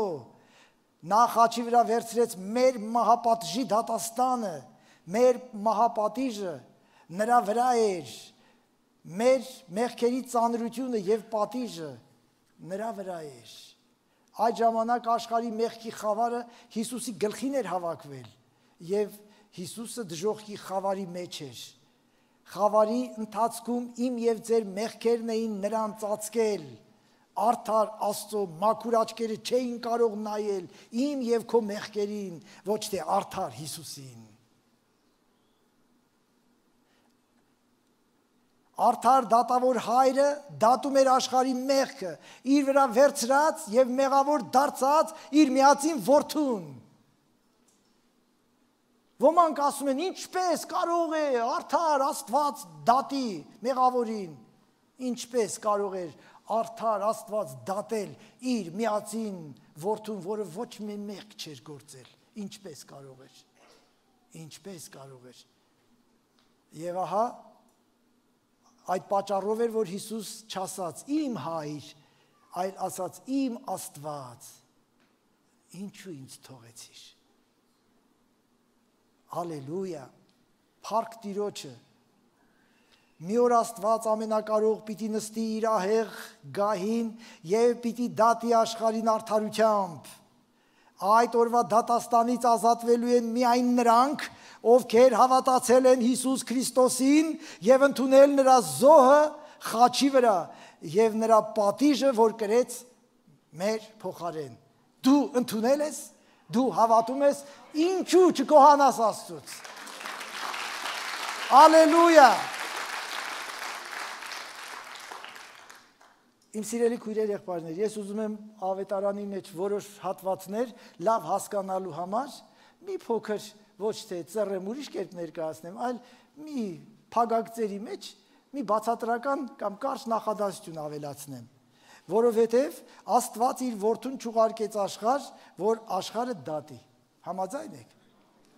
Նա խաչի վրա վերցրեց մեր մահապատժի դատաստանը, մեր մահապատիժը նրա վրա էր, մեր մեղքերի ծանրությունը եւ պատիժը նրա վրա էր։ Այդ ժամանակ աշխարհի մեղքի խավարը Հիսուսի գլխին էր հավաքվել եւ Հիսուսը դժոխքի խավարի մեջ էր։ Խավարի ընթացքում իմ եւ ձեր մեղքերն էին նրան ծածկել։ Արդար Աստծո մաքուր աչքերը չէին կարող նայել իմ եւ քո մեղքերին, ոչ թե արդար Հիսուսին։ Արդար դատավոր հայրը դատում էր աշխարհի մեղքը, իր վրա վերցրած եւ մեղավոր դարձած իր միածին որդուն։ Ոմանք ասում են, ինչպես կարող է արդար Աստված դատի մեղավորին, ինչպես կարող էր արդար Աստված դատել իր միածին որդուն, որը ոչ մի մեղք չէր գործել, ինչպես կարող էր, ինչպես կարող էր։ Եվ ահա Այդ պատճառով էր, որ Հիսուս չասաց իմ հայր, այլ ասաց իմ Աստված, ինչու ինձ թողեցիր։ Հալելույա, փառք Տիրոջը։ Մի օր Աստված ամենակարող պիտի նստի իր ահեղ գահին եւ պիտի դատի աշխարհին արդարությամբ։ Այդ օրվա դատաստանից ազատվելու են միայն նրանք, ովքեր հավատացել են Հիսուս Քրիստոսին եւ ընդունել նրա զոհը խաչի վրա եւ նրա պատիժը, որ կրեց մեր փոխարեն։ Դու ընդունել ես, դու հավատում ես, ինչու չկոհանաս Աստծուց։ Հալելույա։ Իմ սիրելի քույրեր, եղբայրներ, ես ուզում եմ ավետարանի մեջ որոշ հատվածներ լավ հասկանալու համար մի փոքր ոչ թե ծռեմ ուրիշ կերպ ներկայացնեմ, այլ մի փագագծերի մեջ մի բացատրական կամ կարճ նախադասություն ավելացնեմ, որովհետև Աստված իր որդուն չուղարկեց աշխարհ, որ աշխարհը դատի։ Համաձայն եք։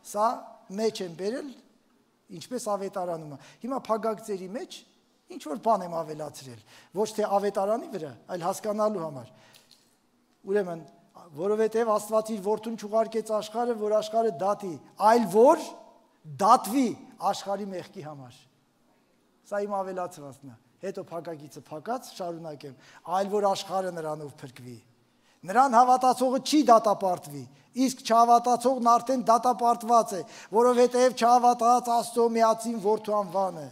Սա մեջ են բերել, ինչպես ավետարանում է։ Հիմա փագագծերի մեջ ինչ որ բան եմ ավելացրել, ոչ թե ավետարանի վրա, այլ հասկանալու համար։ Ուրեմն, որովհետև Աստված իր որդուն չուղարկեց աշխարհը, որ աշխարհը դատի, այլ որ դատվի աշխարհի մեղքի համար։ Սա իմ ավելացվածն է։ Հետո փակագիծը փակած շարունակեմ, այլ որ աշխարհը նրանով փրկվի։ Նրան հավատացողը չի դատապարտվի, իսկ չհավատացողն արդեն դատապարտված է, որովհետև չհավատաց Աստծո միածին որդու անվանը։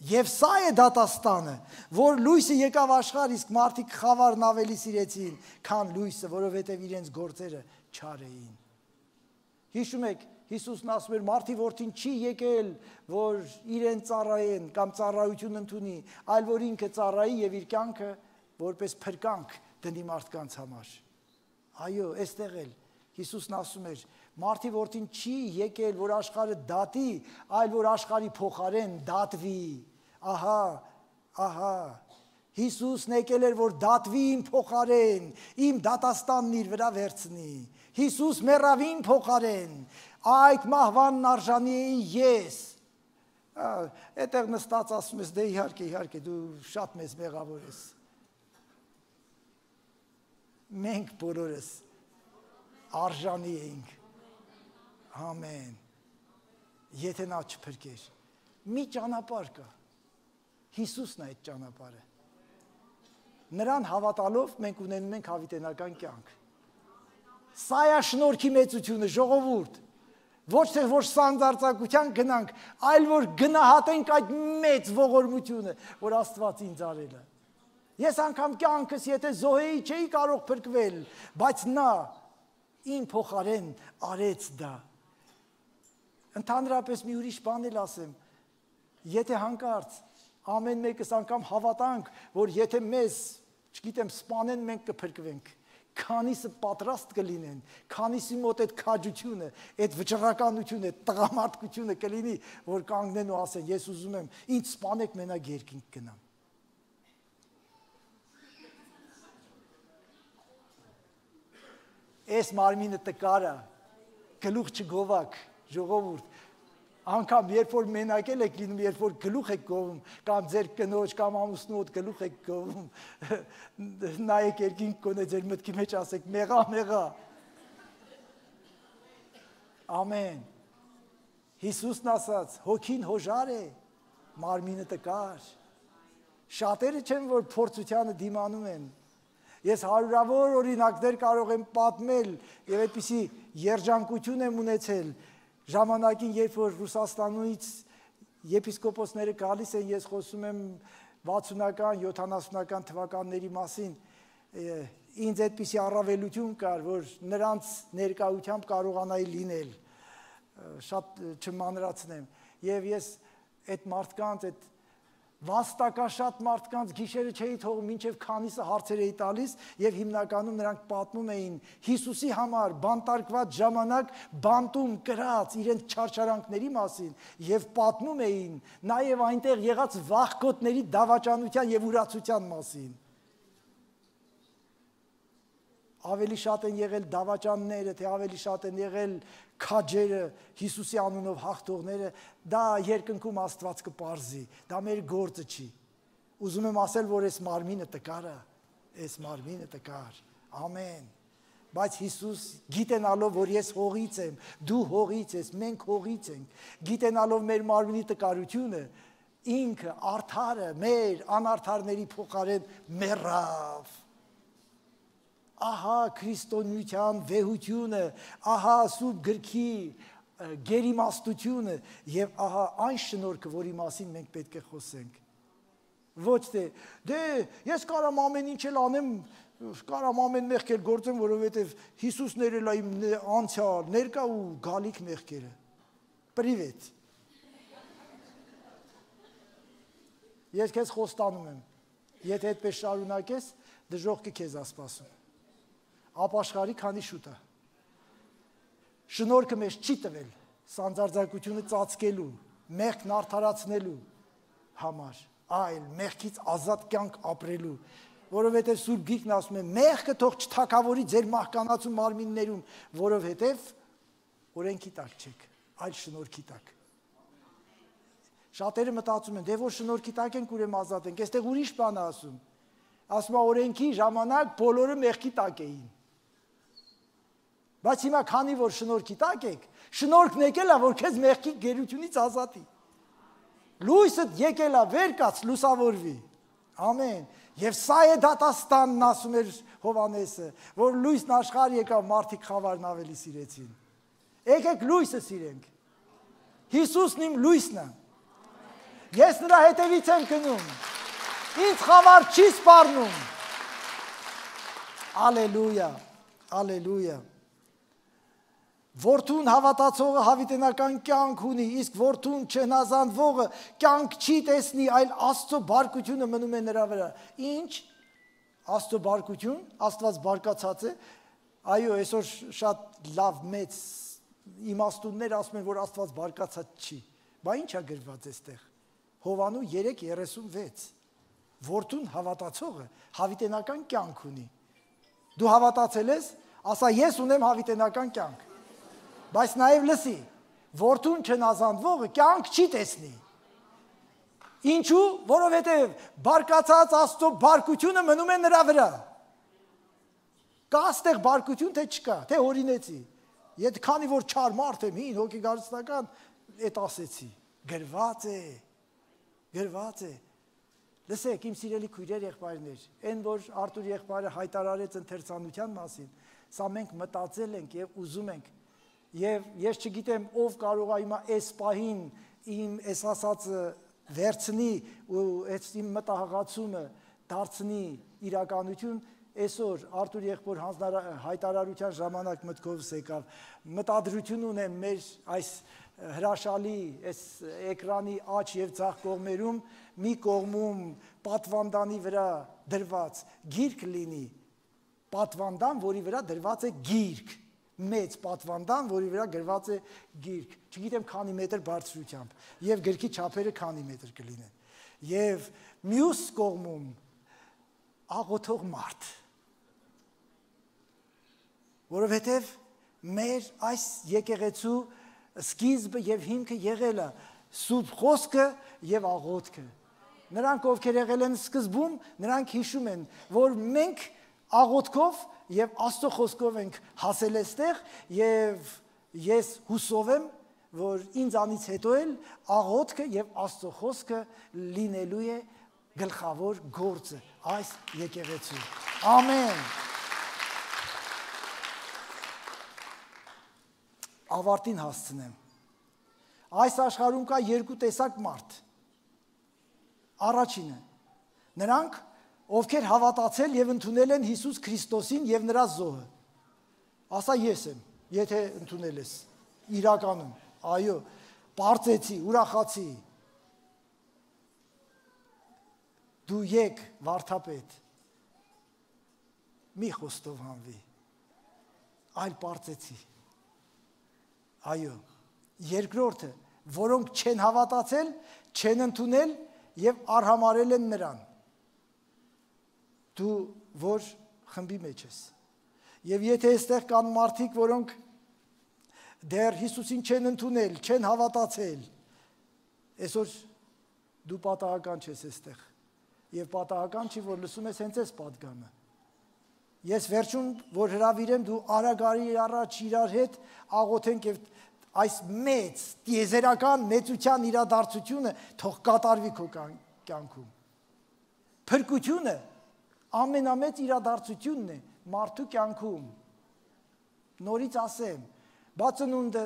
Եվ սա է դատաստանը, որ լույսը եկավ աշխարհ, իսկ մարդիկ խավարն ավելի սիրեցին, քան լույսը, որովհետև իրենց գործերը չար էին։ Հիշում եք, Հիսուսն ասում էր, մարդի որդին չի եկել, որ իրեն ծառայեն կամ ծառայություն ընդունի, այլ որ ինքը ծառայի եւ իր կյանքը որպես փրկանք դնի մարդկանց համար։ Այո, այստեղ էլ Հիսուսն ասում էր, մարդի որդին չի եկել, որ աշխարհը դատի, այլ որ աշխարհի փոխարեն դատվի։ Ահա, Հիսուսն եկել էր, որ դատվի իմ փոխարեն, իմ դատաստանն իր վրա վերցնի։ Հիսուս մեռավ իմ փոխարեն, այդ մահվանն արժանի էի ես։ Այդտեղ նստած ասում ես, դե իհարկե, դու շատ մեծ մեղավոր ես։ Մենք բոլորս արժանի էինք։ Ամեն։ Եթե նա չփրկեր, մի ճանապարհ կա։ Հիսուսն է այդ ճանապարհը։ Նրան հավատալով մենք ունենում ենք հավիտենական կյանք։ Սա է շնորհքի մեծությունը, ժողովուրդ։ Ոչ թե որ սանձարձակության գնանք, այլ որ գնահատենք այդ մեծ ողորմությունը, որ Աստված ինձ արել է։ Ես անգամ կյանքս եթե զոհեի չէի կարող փրկվել, բայց նա իմ փոխարեն արեց դա։ Ընդհանրապես մի ուրիշ բան էլ ասեմ, եթե հանկարծ ամեն մեկս անգամ հավատանք, որ եթե մեզ, չգիտեմ, սպանեն, մենք կփրկվենք, քանիսը պատրաստ կլինեն, քանիսի մոտ այդ քաջությունը, այդ վճռականությունը, այդ տղամարդկությունը կլինի, որ կանգնեն ու ասեն, ես ուզում եմ, ինձ սպանեք, մենակ երկինք գնամ։ Այս մարմինը տկար է, գլուխ չգովակ, ժողովուրդ, անգամ երբ որ մենակ եք լինում, երբ որ գլուխ եք գովում, կամ ձեր կնոջ կամ ամուսնուդ գլուխ եք գովում, նայեք երկինք կոնե ձեր մտքի մեջ ասեք, մեղա։ Ամեն։ Հիսուսն ասաց, հոգին հոժար է, մարմինը տկար։ Շատերը չեն, որ փորձությանը դիմանում են։ Ես հարյուրավոր օրինակներ կարող եմ պատմել եւ այդպիսի երջանկություն եմ ունեցել ժամանակին, երբ որ Ռուսաստանից եպիսկոպոսները գալիս են, ես խոսում եմ 60-ական, 70-ական թվականների մասին, ինձ այդպիսի առավելություն կար, որ նրանց ներկայությամբ կարողանայի լինել, շատ չմանրացնեմ, եւ ես այդ մարդկանց, այդ վաստակաշատ մարդկանց գիշերը չէի թողում, մինչև քանիսը հարցեր էի տալիս եւ հիմնականում նրանք պատմում էին Հիսուսի համար բանտարկված ժամանակ բանտում կրած իրենց չարչարանքների մասին եւ պատմում էին նաեւ այնտեղ եղած վախկոտների դավաճանության եւ ուրացության մասին։ ավելի շատ են եղել դավաճանները, թե ավելի շատ են եղել քաջերը, Հիսուսի անունով հաղթողները, դա երկնքում Աստված կպարզի, դա մեր գործը չի։ Ուզում եմ ասել, որ այս մարմինը տկար է, այս մարմինը տկար, ամեն, բայց Հիսուս գիտենալով, որ ես հողից եմ, դու հողից ես, մենք հողից ենք, գիտենալով մեր մարմինի տկարությունը, ինքը արդարը մեր անարդարների փոխարեն մեռավ։ Ահա քրիստոնեության վեհությունը, ահա Սուրբ գրքի գերիմաստությունը եւ ահա այն շնորհքը, որի մասին մենք պետք է խոսենք։ Ոչ թե դե ես կարամ ամեն ինչ էլ անեմ, կարամ ամեն մեղք էլ գործեմ, որովհետեւ Հիսուսն էր իմ անցյալ, ներկա ու գալիք մեղքերը։ Պրիվետ։ Ես քեզ խոստանում եմ, եթե այդպես շարունակես, դժոխքը քեզ է սպասում։ Ապաշխարի քանի շուտ է։ Շնորհքը մեզ չի տվել սանձարձակությունը ծածկելու, մեղքն արդարացնելու համար, այլ մեղքից ազատ կյանք ապրելու, որովհետև Սուրբ Գիրքն ասում է, մեղքը թող չթակավորի ձեր մահկանացու մարմիններում, որովհետև օրենքի տակ չեք, այլ շնորհքի տակ։ Շատերը մտածում են, դե որ շնորհքի տակ ենք, ուրեմն ազատ ենք, այստեղ ուրիշ բան է ասում։ Ասում է օրենքի ժամանակ բոլորը մեղքի տակ էին։ Բայց հիմա քանի որ շնորհքի տակ եք, շնորհքն եկել է, որ քեզ մեղքի գերությունից ազատի։ Լույսը եկել է, վեր կաց, լուսավորվի։ Ամեն։ Եվ սա է դատաստանն, ասում էր Հովհաննեսը, որ լույսն աշխարհ եկավ, մարդիկ խավարն ավելի սիրեցին։ Եկեք լույսը սիրենք։ Հիսուսն իմ լույսն է։ Ես նրա հետևից եմ գնում։ Ինձ խավար չի սպառնում։ Ալելույա, ալելույա։ Որդուն հավատացողը հավիտենական կյանք ունի, իսկ որդուն չհնազանդվողը կյանք չի տեսնի, այլ Աստծո բարկությունը մնում է նրա վրա։ Ինչ? Աստծո բարկություն, Աստված բարկացած է։ Այո, այսօր շատ լավ մեծ իմաստուններ ասում են, որ Աստված բարկացած չի։ Բա ի՞նչ է գրված այստեղ։ Հովանու 3:36։ Որդուն հավատացողը հավիտենական կյանք ունի։ Դու հավատացել ես, ասա ես ունեմ հավիտենական կյանք։ Բայց նաև լսի, որդուն չնազանդվողը կյանք չի տեսնի։ Ինչու? Որովհետև բարկացած Աստծո բարկությունը մնում է նրա վրա։ Կա այստեղ բարկություն, թե չկա, թե օրինեցի։ Եթե քանի որ չար մարդ եմ, հին հոգեգարստական, այդ ասեցի։ Գրված է, գրված է։ Լսեք, իմ սիրելի քույրեր, եղբայրներ, այն որ Արտուր եղբայրը հայտարարեց ընթերցանության մասին, սա մենք մտածել ենք եւ ուզում ենք։ Եվ ես չգիտեմ ով կարող է հիմա այս պահին իմ այս ասածը վերցնի ու այս իմ մտահղացումը դարձնի իրականություն, այսօր Արտուր եղբոր հայտարարության ժամանակ մտքովս եկավ, մտադրություն ունեմ մեր այս հրաշալի այս էկրանի աջ եւ ձախ կողմերում մի կողմում պատվանդանի վրա դրված գիրք լինի, պատվանդան, որի վրա դրված է գիրք, մեծ պատվանդան, որի վրա գրված է գիրք, չգիտեմ քանի մետր բարձրությամբ, եւ գրքի չափերը քանի մետր կլինեն, եւ մյուս կողմում աղոթող մարդ, որովհետեւ մեր այս եկեղեցու սկիզբը եւ հիմքը եղել է Սուրբ խոսքը եւ աղոթքը։ Նրանք ովքեր եղել են սկզբում, նրանք հիշում են, որ մենք աղոթքով եւ Աստծո խոսքով ենք հասել այստեղ եւ ես հուսով եմ, որ ինձանից հետո էլ աղոթքը եւ Աստծո խոսքը լինելու է գլխավոր գործը այս եկեղեցու։ Ամեն։ Ավարտին հասցնեմ։ Այս աշխարհում կա երկու տեսակ մարդ։ Առաջինը, նրանք, ովքեր հավատացել եւ ընդունել են Հիսուս Քրիստոսին եւ նրա զոհը։ Ասա ես եմ, եթե ընդունել ես իրականում, այո, բարձեցի, ուրախացի։ Դու եկ վարդապետ, մի խոստով հանվի, այլ բարձեցի։ Այո, երկրորդը, որոնք չեն հավատացել, չեն ընդունել եւ արհամարել են նրան։ Դու որ խմբի մեջ ես։ Եվ եթե այստեղ կան մարդիկ, որոնք դեռ Հիսուսին չեն ընդունել, չեն հավատացել, այսօր դու պատահական չես այստեղ։ Եվ պատահական չի, որ լսում ես հենց այս պատգամը։ Ես վերջում, որ հրավիրեմ, դու արագ առաջ իրար հետ աղոթենք եւ այս մեծ տիեզերական մեծության իրադարձությունը թող կատարվի քո կյանքում։ Փրկությունը ամենամեծ իրադարձությունն է մարդու կյանքում։ Նորից ասեմ, բա ծնունդը,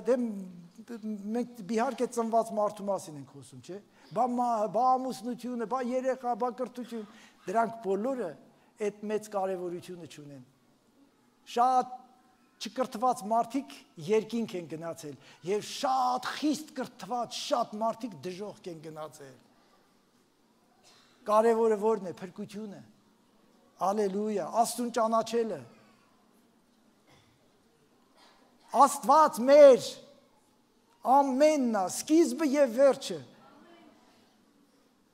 մենք իհարկե ծնված մարդու մասին ենք խոսում, չէ՞։ Բա ամուսնությունը, բա երեխա, բա կրթություն, դրանք բոլորը այդ մեծ կարևորությունը չունեն։ Շատ չկրթված մարդիկ երկինք են գնացել եւ շատ խիստ կրթված շատ մարդիկ դժոխք են գնացել։ Կարևորը ո՞րն է, փրկությունը։ Ալելույա, Աստծուն ճանաչելը։ Աստված մեր ամենն է, սկիզբը եւ վերջը։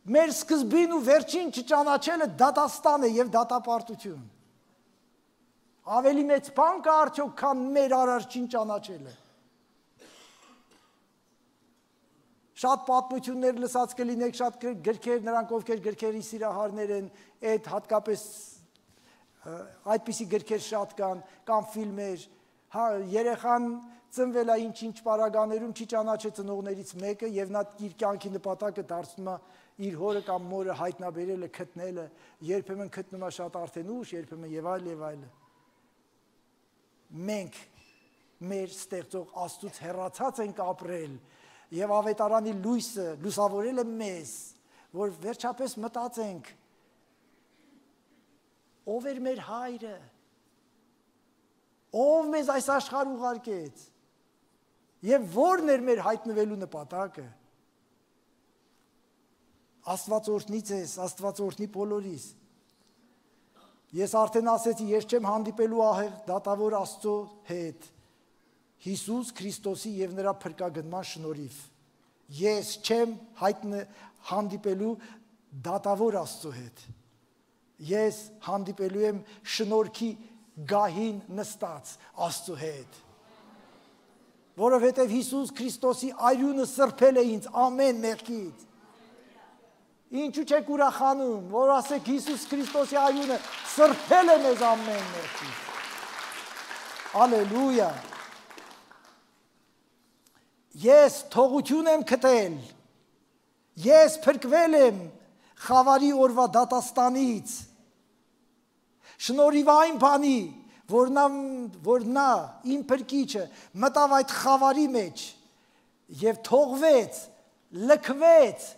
Մեր սկզբին ու վերջին չճանաչելը դատաստան է եւ դատապարտություն։ Ավելի մեծ բան կա արդյոք, քան մեր արարչին ճանաչելը։ Շատ պատմություններ լսած կլինեք, շատ գրքեր, նրանք ովքեր գրքերի սիրահարներ են, այդ հատկապես այդպիսի գրքեր շատ կան ֆիլմեր, երեխան ծնվել է ինչ-ինչ պարագաներում, չի ճանաչել ծնողներից մեկը եւ նա իր կյանքի նպատակը դարձնում է իր հորը կամ մորը հայտնաբերելը, գտնելը, երբեմն գտնում է շատ արդեն ուշ, երբեմն եւ այլ։ Մենք մեր ստեղծող Աստծուց հեռացած ենք ապրել եւ ավետարանի լույսը լուսավորել է մեզ, որ վերջապես մտածենք ով էր մեր հայրը, ով մեզ այս աշխարհ ուղարկեց եւ ո՞րն էր մեր հայտնվելու նպատակը։ Աստված օրհնի ձեզ, Աստված օրհնի բոլորիս։ Ես արդեն ասեցի, ես չեմ հանդիպելու ահեղ դատավոր Աստծո հետ, Հիսուս Քրիստոսի եւ նրա փրկագնման շնորհիվ։ Ես չեմ հանդիպելու դատավոր Աստծո հետ։ Ես հանդիպելու եմ շնորհքի գահին նստած Աստծո հետ։ Որովհետեւ Հիսուս Քրիստոսի արյունը սրբել է ինձ ամեն մեղքից։ Ինչու չեք ուրախանում, որ ասեք Հիսուս Քրիստոսի արյունը սրբել է մեզ ամեն մեղքից։ Ալելույա։ Ես թողություն եմ գտել։ Ես փրկվել եմ խավարի օրվա դատաստանից։ Շնորհիվ այն բանի, որ նա իմ փրկիչը մտավ այդ խավարի մեջ եւ թողվեց, լքվեց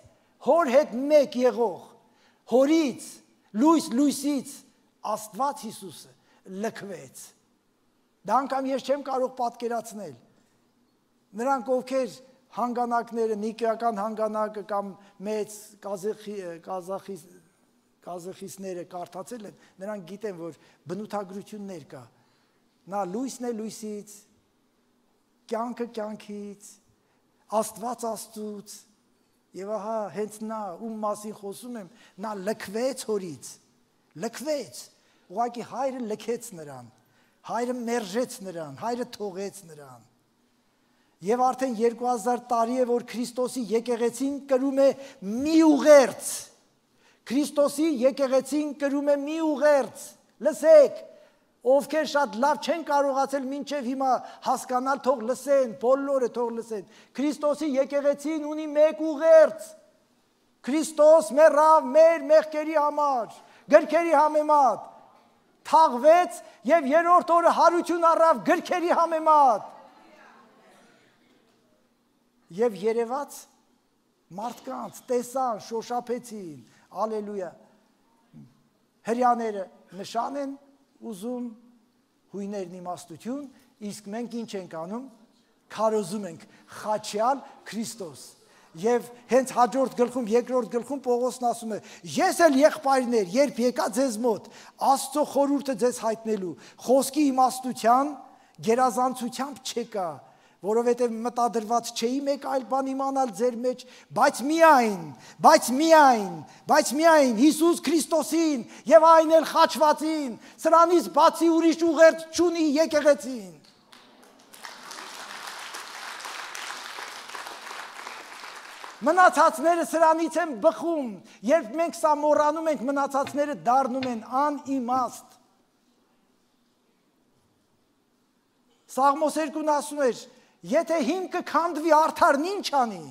հոր հետ մեկ եղող, հորից, լույսից, Աստված Հիսուսը լքվեց։ Դա անգամ ես չեմ կարող պատկերացնել։ Նրանք ովքեր հանգանակները, նիկեական հանգանակը կամ մեծ կազախիսները կարդացել են, նրանք գիտեն, որ բնութագրություններ կա։ Նա լույսն է լույսից, կյանքը կյանքից, Աստված Աստծուց, եւ ահա հենց նա ում մասին խոսում եմ, նա լքվեց հորից, լքվեց, ուղղակի հայրը լքեց նրան, հայրը մերժեց նրան, հայրը թողեց նրան։ Եվ արդեն 2000 տարի է, որ Քրիստոսի եկեղեցին կրում է մի ուղերձ, Քրիստոսի եկեղեցին կրում է մի ուղերձ, լսեք, ովքեր շատ լավ չեն կարողացել մինչև հիմա հասկանալ, թող լսեն, բոլորը թող լսեն։ Քրիստոսի եկեղեցին ունի մեկ ուղերձ։ Քրիստոս մեռավ մեր մեղքերի համար, գրքերի համեմատ, թաղվեց եւ երրորդ օրը հարություն առավ գրքերի համեմատ։ Եվ երևաց մարդկանց, տեսան, շոշափեցին, ալելույա։ Հրյաները նշան են ուզում, հույներն իմաստություն, իսկ մենք ինչ ենք անում, քարոզում ենք խաչյալ Քրիստոս։ Եվ հենց հաջորդ գլխում, երկրորդ գլխում Պողոսն ասում է. ես էլ եղբայրներ, երբ եկա ձեզ մոտ, Աստծո խորհուրդը ձեզ հայտնելու, խոսքի իմաստության, գերազանցությամբ չեկա, որովհետև մտադրված չէի մեկ այլ բան իմանալ ձեր մեջ, բայց միայն Հիսուս Քրիստոսին եւ այն էլ խաչվածին, սրանից բացի ուրիշ ուղերձ չունի եկեղեցին։ Մնացածները սրանից են բխում, երբ մենք սա մոռանում ենք, մնացածները դառնում են անիմաստ։ Սաղմոս 2-ն ասում էր, եթե հիմքը քանդվի արդարն ինչ անի,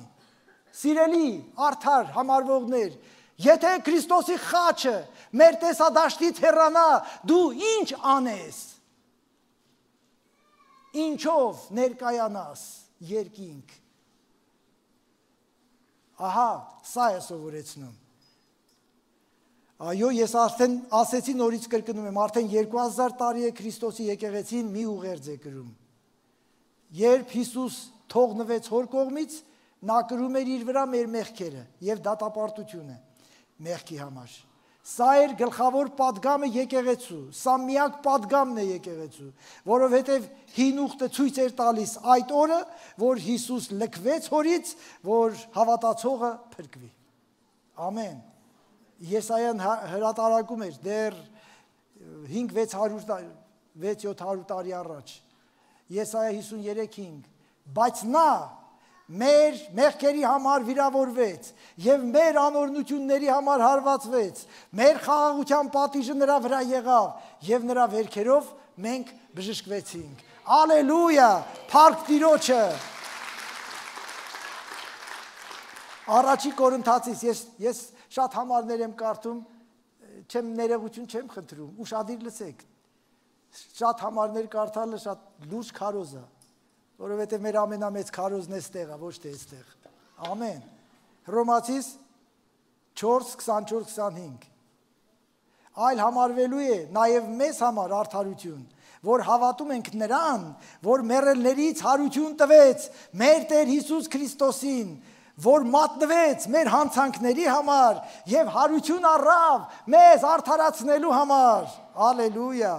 սիրելի արդար համարվողներ, եթե Քրիստոսի խաչը մեր տեսադաշտից հեռանա, դու ինչ անես, ինչով ներկայանաս երկինք, ահա, սա է սովորեցնում, այո, ես արդեն ասեցի նորից կրկնում եմ, արդեն 2000 տարի է Քրիստոսի եկեղեցին մի ուղերձ է կրում, երբ Հիսուս թողնվեց հոր կողմից, նա կրում էր իր վրա մեր մեղքերը և դատապարտությունը մեղքի համար, սա էր գլխավոր պատգամը եկեղեցու, սա միակ պատգամն է եկեղեցու, որովհետև հին ուխտը ցույց էր տալիս այդ օրը, որ Հիսուս լքվեց հորից, որ հավատացողը փրկվի, ամեն, Եսայան հրատարակում էր դեռ 5-600 տարի առաջ, Եսայա 53-5, բայց նա մեր մեղքերի համար վիրավորվեց և մեր անօրնությունների համար հարվածվեց, մեր խաղաղության պատիժը նրա վրա եղավ և նրա վերքերով մենք բժշկվեցինք, ալելույա, փառք Տիրոջը, առաջի Կորինթացիս, ես շատ համարներ եմ կարդում, ներողություն չեմ խնդրում, ուշադիր լսեք, շատ համարներ կարդալը շատ լուրջ քարոզ է, որովհետև մեր ամենամեծ քարոզն է ստեղը, ոչ թե այստեղ, ամեն, Հռոմացիս 4:24-25, այլ համարվելու է նաև մեզ համար արդարություն, որ հավատում ենք նրան, որ մեռելներից հարություն տվեց մեր Տեր Հիսուս Քրիստոսին, որ մատնվեց մեր հանցանքների համար և հարություն առավ մեզ արդարացնելու համար, ալելույա,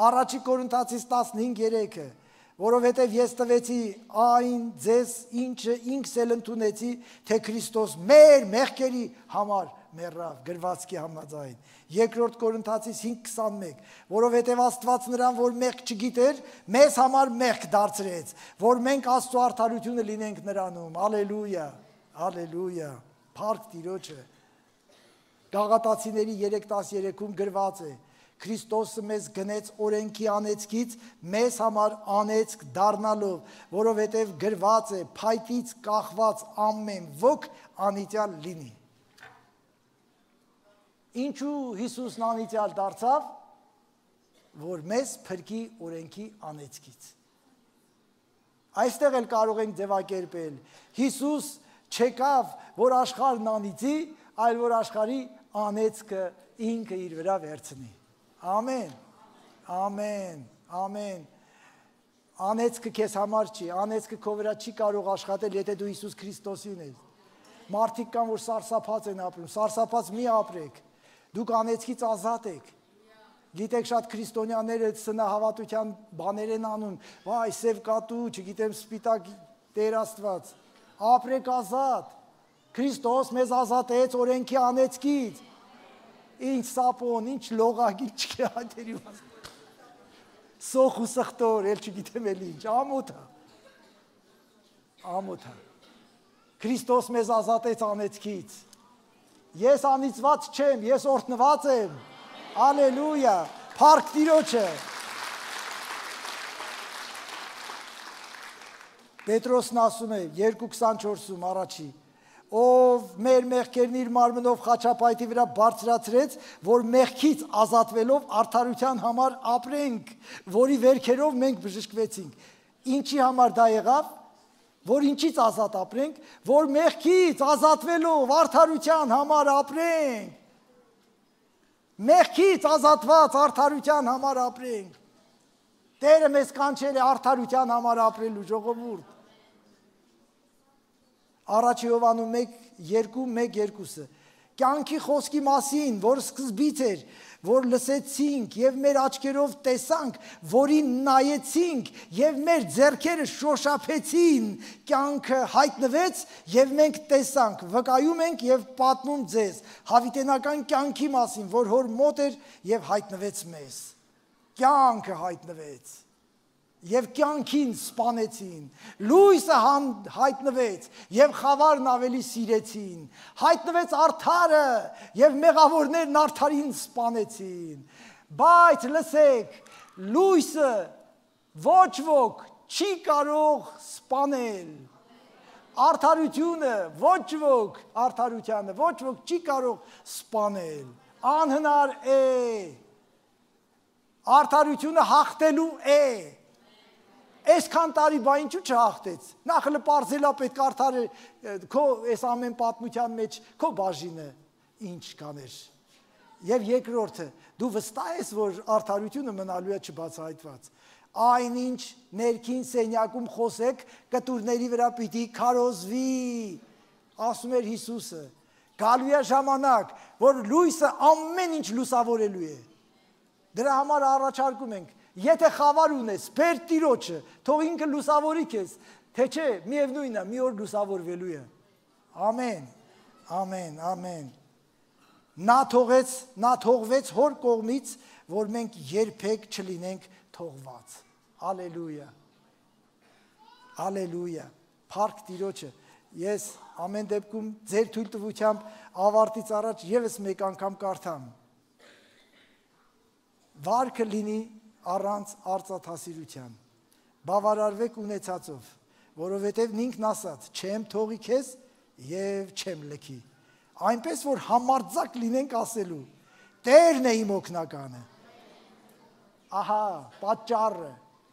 առաջի Կորինթացիս 15:3-ը, որովհետև ես տվեցի այն ձեզ, ինչը ինքս էլ ընդունեցի, թե Քրիստոս մեր մեղքերի համար մեռավ, գրվածքի համաձայն, երկրորդ Կորինթացիս 5:21, որովհետև Աստված նրան, որ մեղք չգիտեր, մեզ համար մեղք դարձրեց, որ մենք Աստծո արդարությունը լինենք նրանում, ալելույա, Ալելույա, փառք Տիրոջը, Գաղատացիների 3:13-ում գրված է, Քրիստոսը մեզ գնեց օրենքի անեծքից, մեզ համար անեծք դառնալով, որովհետև գրված է, փայտից կախված ամեն ոք անիծյալ լինի։ Ինչու Հիսուսն անիծյալ դարձավ, որ մեզ փրկի օրենքի անեծքից։ Այստեղ էլ կարող ենք ձևակերպել, Հիսուս չեկավ, որ աշխարհն անիծի, այլ որ աշխարհի անեծքը ինքը իր վրա վերցնի։ Ամեն, ամեն, ամեն, անեծքը քեզ համար չի, անեծքը քո վրա չի կարող աշխատել, եթե դու Հիսուս Քրիստոսին ես, մարդիկ կան, որ սարսափած են ապրում, սարսափած մի ապրեք, դուք անեծքից ազատ եք, գիտեք շատ քրիստոնյաները սնահավատության բաներ են անում, վայ, սև կատու, չգիտեմ սպիտակ Տեր Աստված, ապրեք ազատ, Քրիստոս մեզ ազատեց օրենքի անեծքից, ինչ սապոն, ինչ լողագիլ չկե հայտերի վաստ, սոխ ու սխտոր, էլ չգիտեմ էլ ինչ, ամոթա, Քրիստոս մեզ ազատեց անեծքից, ես անիծված չեմ, ես օրհնված եմ, ալելույա, փառք Տիրոջը, Պետրոսն ասում է 2:24-ում առաջի, ով մեր մեղքերն իր մարմնով խաչապայտի վրա բարձրացրեց, որ մեղքից ազատվելով արդարության համար ապրենք, որի վերքերով մենք բժշկվեցինք։ Ինչի համար դա եղավ, որ ինչից ազատ ապրենք, որ մեղքից ազատվելով արդարության համար ապրենք, մեղքից ազատված արդարության համար ապրենք, Տերը մեզ կանչել է արդարության համար ապրելու ժողովուրդ, Առաջի Հովհաննես 1:1-2, կյանքի խոսքի մասին, որ սկզբից էր, որ լսեցինք եւ մեր աչքերով տեսանք, որին նայեցինք եւ մեր ձեռքերը շոշափեցին, կյանքը հայտնվեց եւ մենք տեսանք, վկայում ենք եւ պատմում ձեզ հավիտենական կյանքի մասին, որ հոր մոտ էր եւ հայտնվեց մեզ։ Կյանքը հայտնվեց եւ կյանքին սպանեցին, լույսը հայտնվեց եւ խավարն ավելի սիրեցին, հայտնվեց արդարը եւ մեղավորներն արդարին սպանեցին, բայց լսեք, լույսը ոչ ոք չի կարող սպանել, արդարությունը ոչ ոք չի կարող սպանել, անհնար է, արդարությունը հաղթելու է։ Այսքան տարի բա ինչու չհաղթեց, նախ հլը պարզելա պետք արդար քո այս ամեն պատմության մեջ քո բաժինը ինչ կաներ։ Եվ երկրորդը, դու վստահ ես, որ արդարությունը մնալու է չբացահայտված։ Այնինչ ներքին սենյակում խոսեք, կտուրների վրա պիտի քարոզվի, ասում էր Հիսուսը։ Գալու է ժամանակ, որ լույսը ամեն ինչ լուսավորելու է։ Դրա համար առաջարկում ենք, եթե խավար ունես, բեր Տիրոջը, թող ինքը լուսավորի քեզ, թե չէ, միևնույնն է, մի օր լուսավորվելու է։ Ամեն, ամեն, ամեն։ Նա թողվեց հոր կողմից, որ մենք երբեք չլինենք թողված։ Ալելույա։ Ալելույա։ Փառք Տիրոջը։ Ես ամեն դեպքում ձեր թույլտվությամբ ավարտից առաջ եւս մեկ անգամ կարդամ։ Վարքը լինի առանց արծաթասիրության, բավարարվեք ունեցածով, որովհետև ինքն ասաց, չեմ թողի քեզ և չեմ լքի, այնպես, որ համարձակ լինենք ասելու, Տերն է իմ օգնականը,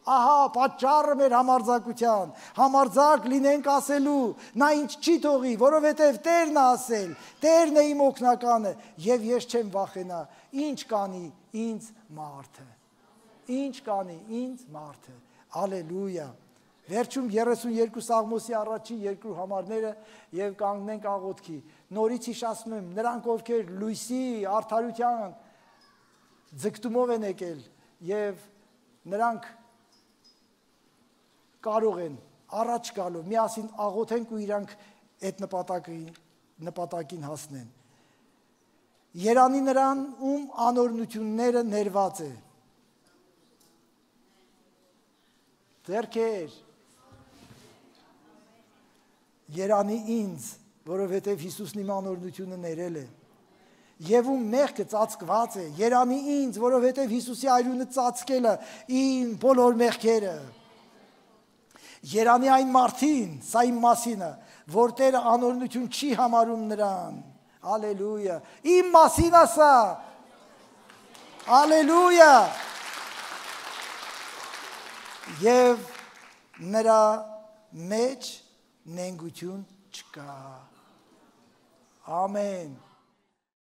ահա պատճառը մեր համարձակության, համարձակ լինենք ասելու, նա ինչ չի թողի, որովհետև Տերն է ասել, Տերն է իմ օգնականը, և ես չեմ վախենա, ինչ կանի ինձ մարդը։ Ինչ կանի ինձ մարդը, ալելույա, վերջում 32 Սաղմոսի առաջի երկու համարները և կանգնենք աղոթքի, նորից հիշացնում եմ, նրանք ովքեր լույսի, արդարության ձգտումով են եկել և նրանք կարող են առաջ գալով, միասին աղոթենք ու իրանք այդ նպատակին հասնեն։ Երանի նրան, ում անօրնությունները ներված է, ձեռքեր, երանի ինձ, որովհետև Հիսուսն իմ անօրնությունը ներել է, և ում մեղքը ծածկված է, երանի ինձ, որովհետև Հիսուսի այրունը ծածկել է իմ բոլոր մեղքերը, երանի այն մարդին, սա իմ մասին է, որ Տերը անօրնություն չի համարում նրան, ալելույա, իմ մասին է սա, ալելույա, և նրա մեջ նենգություն չկա, ամեն,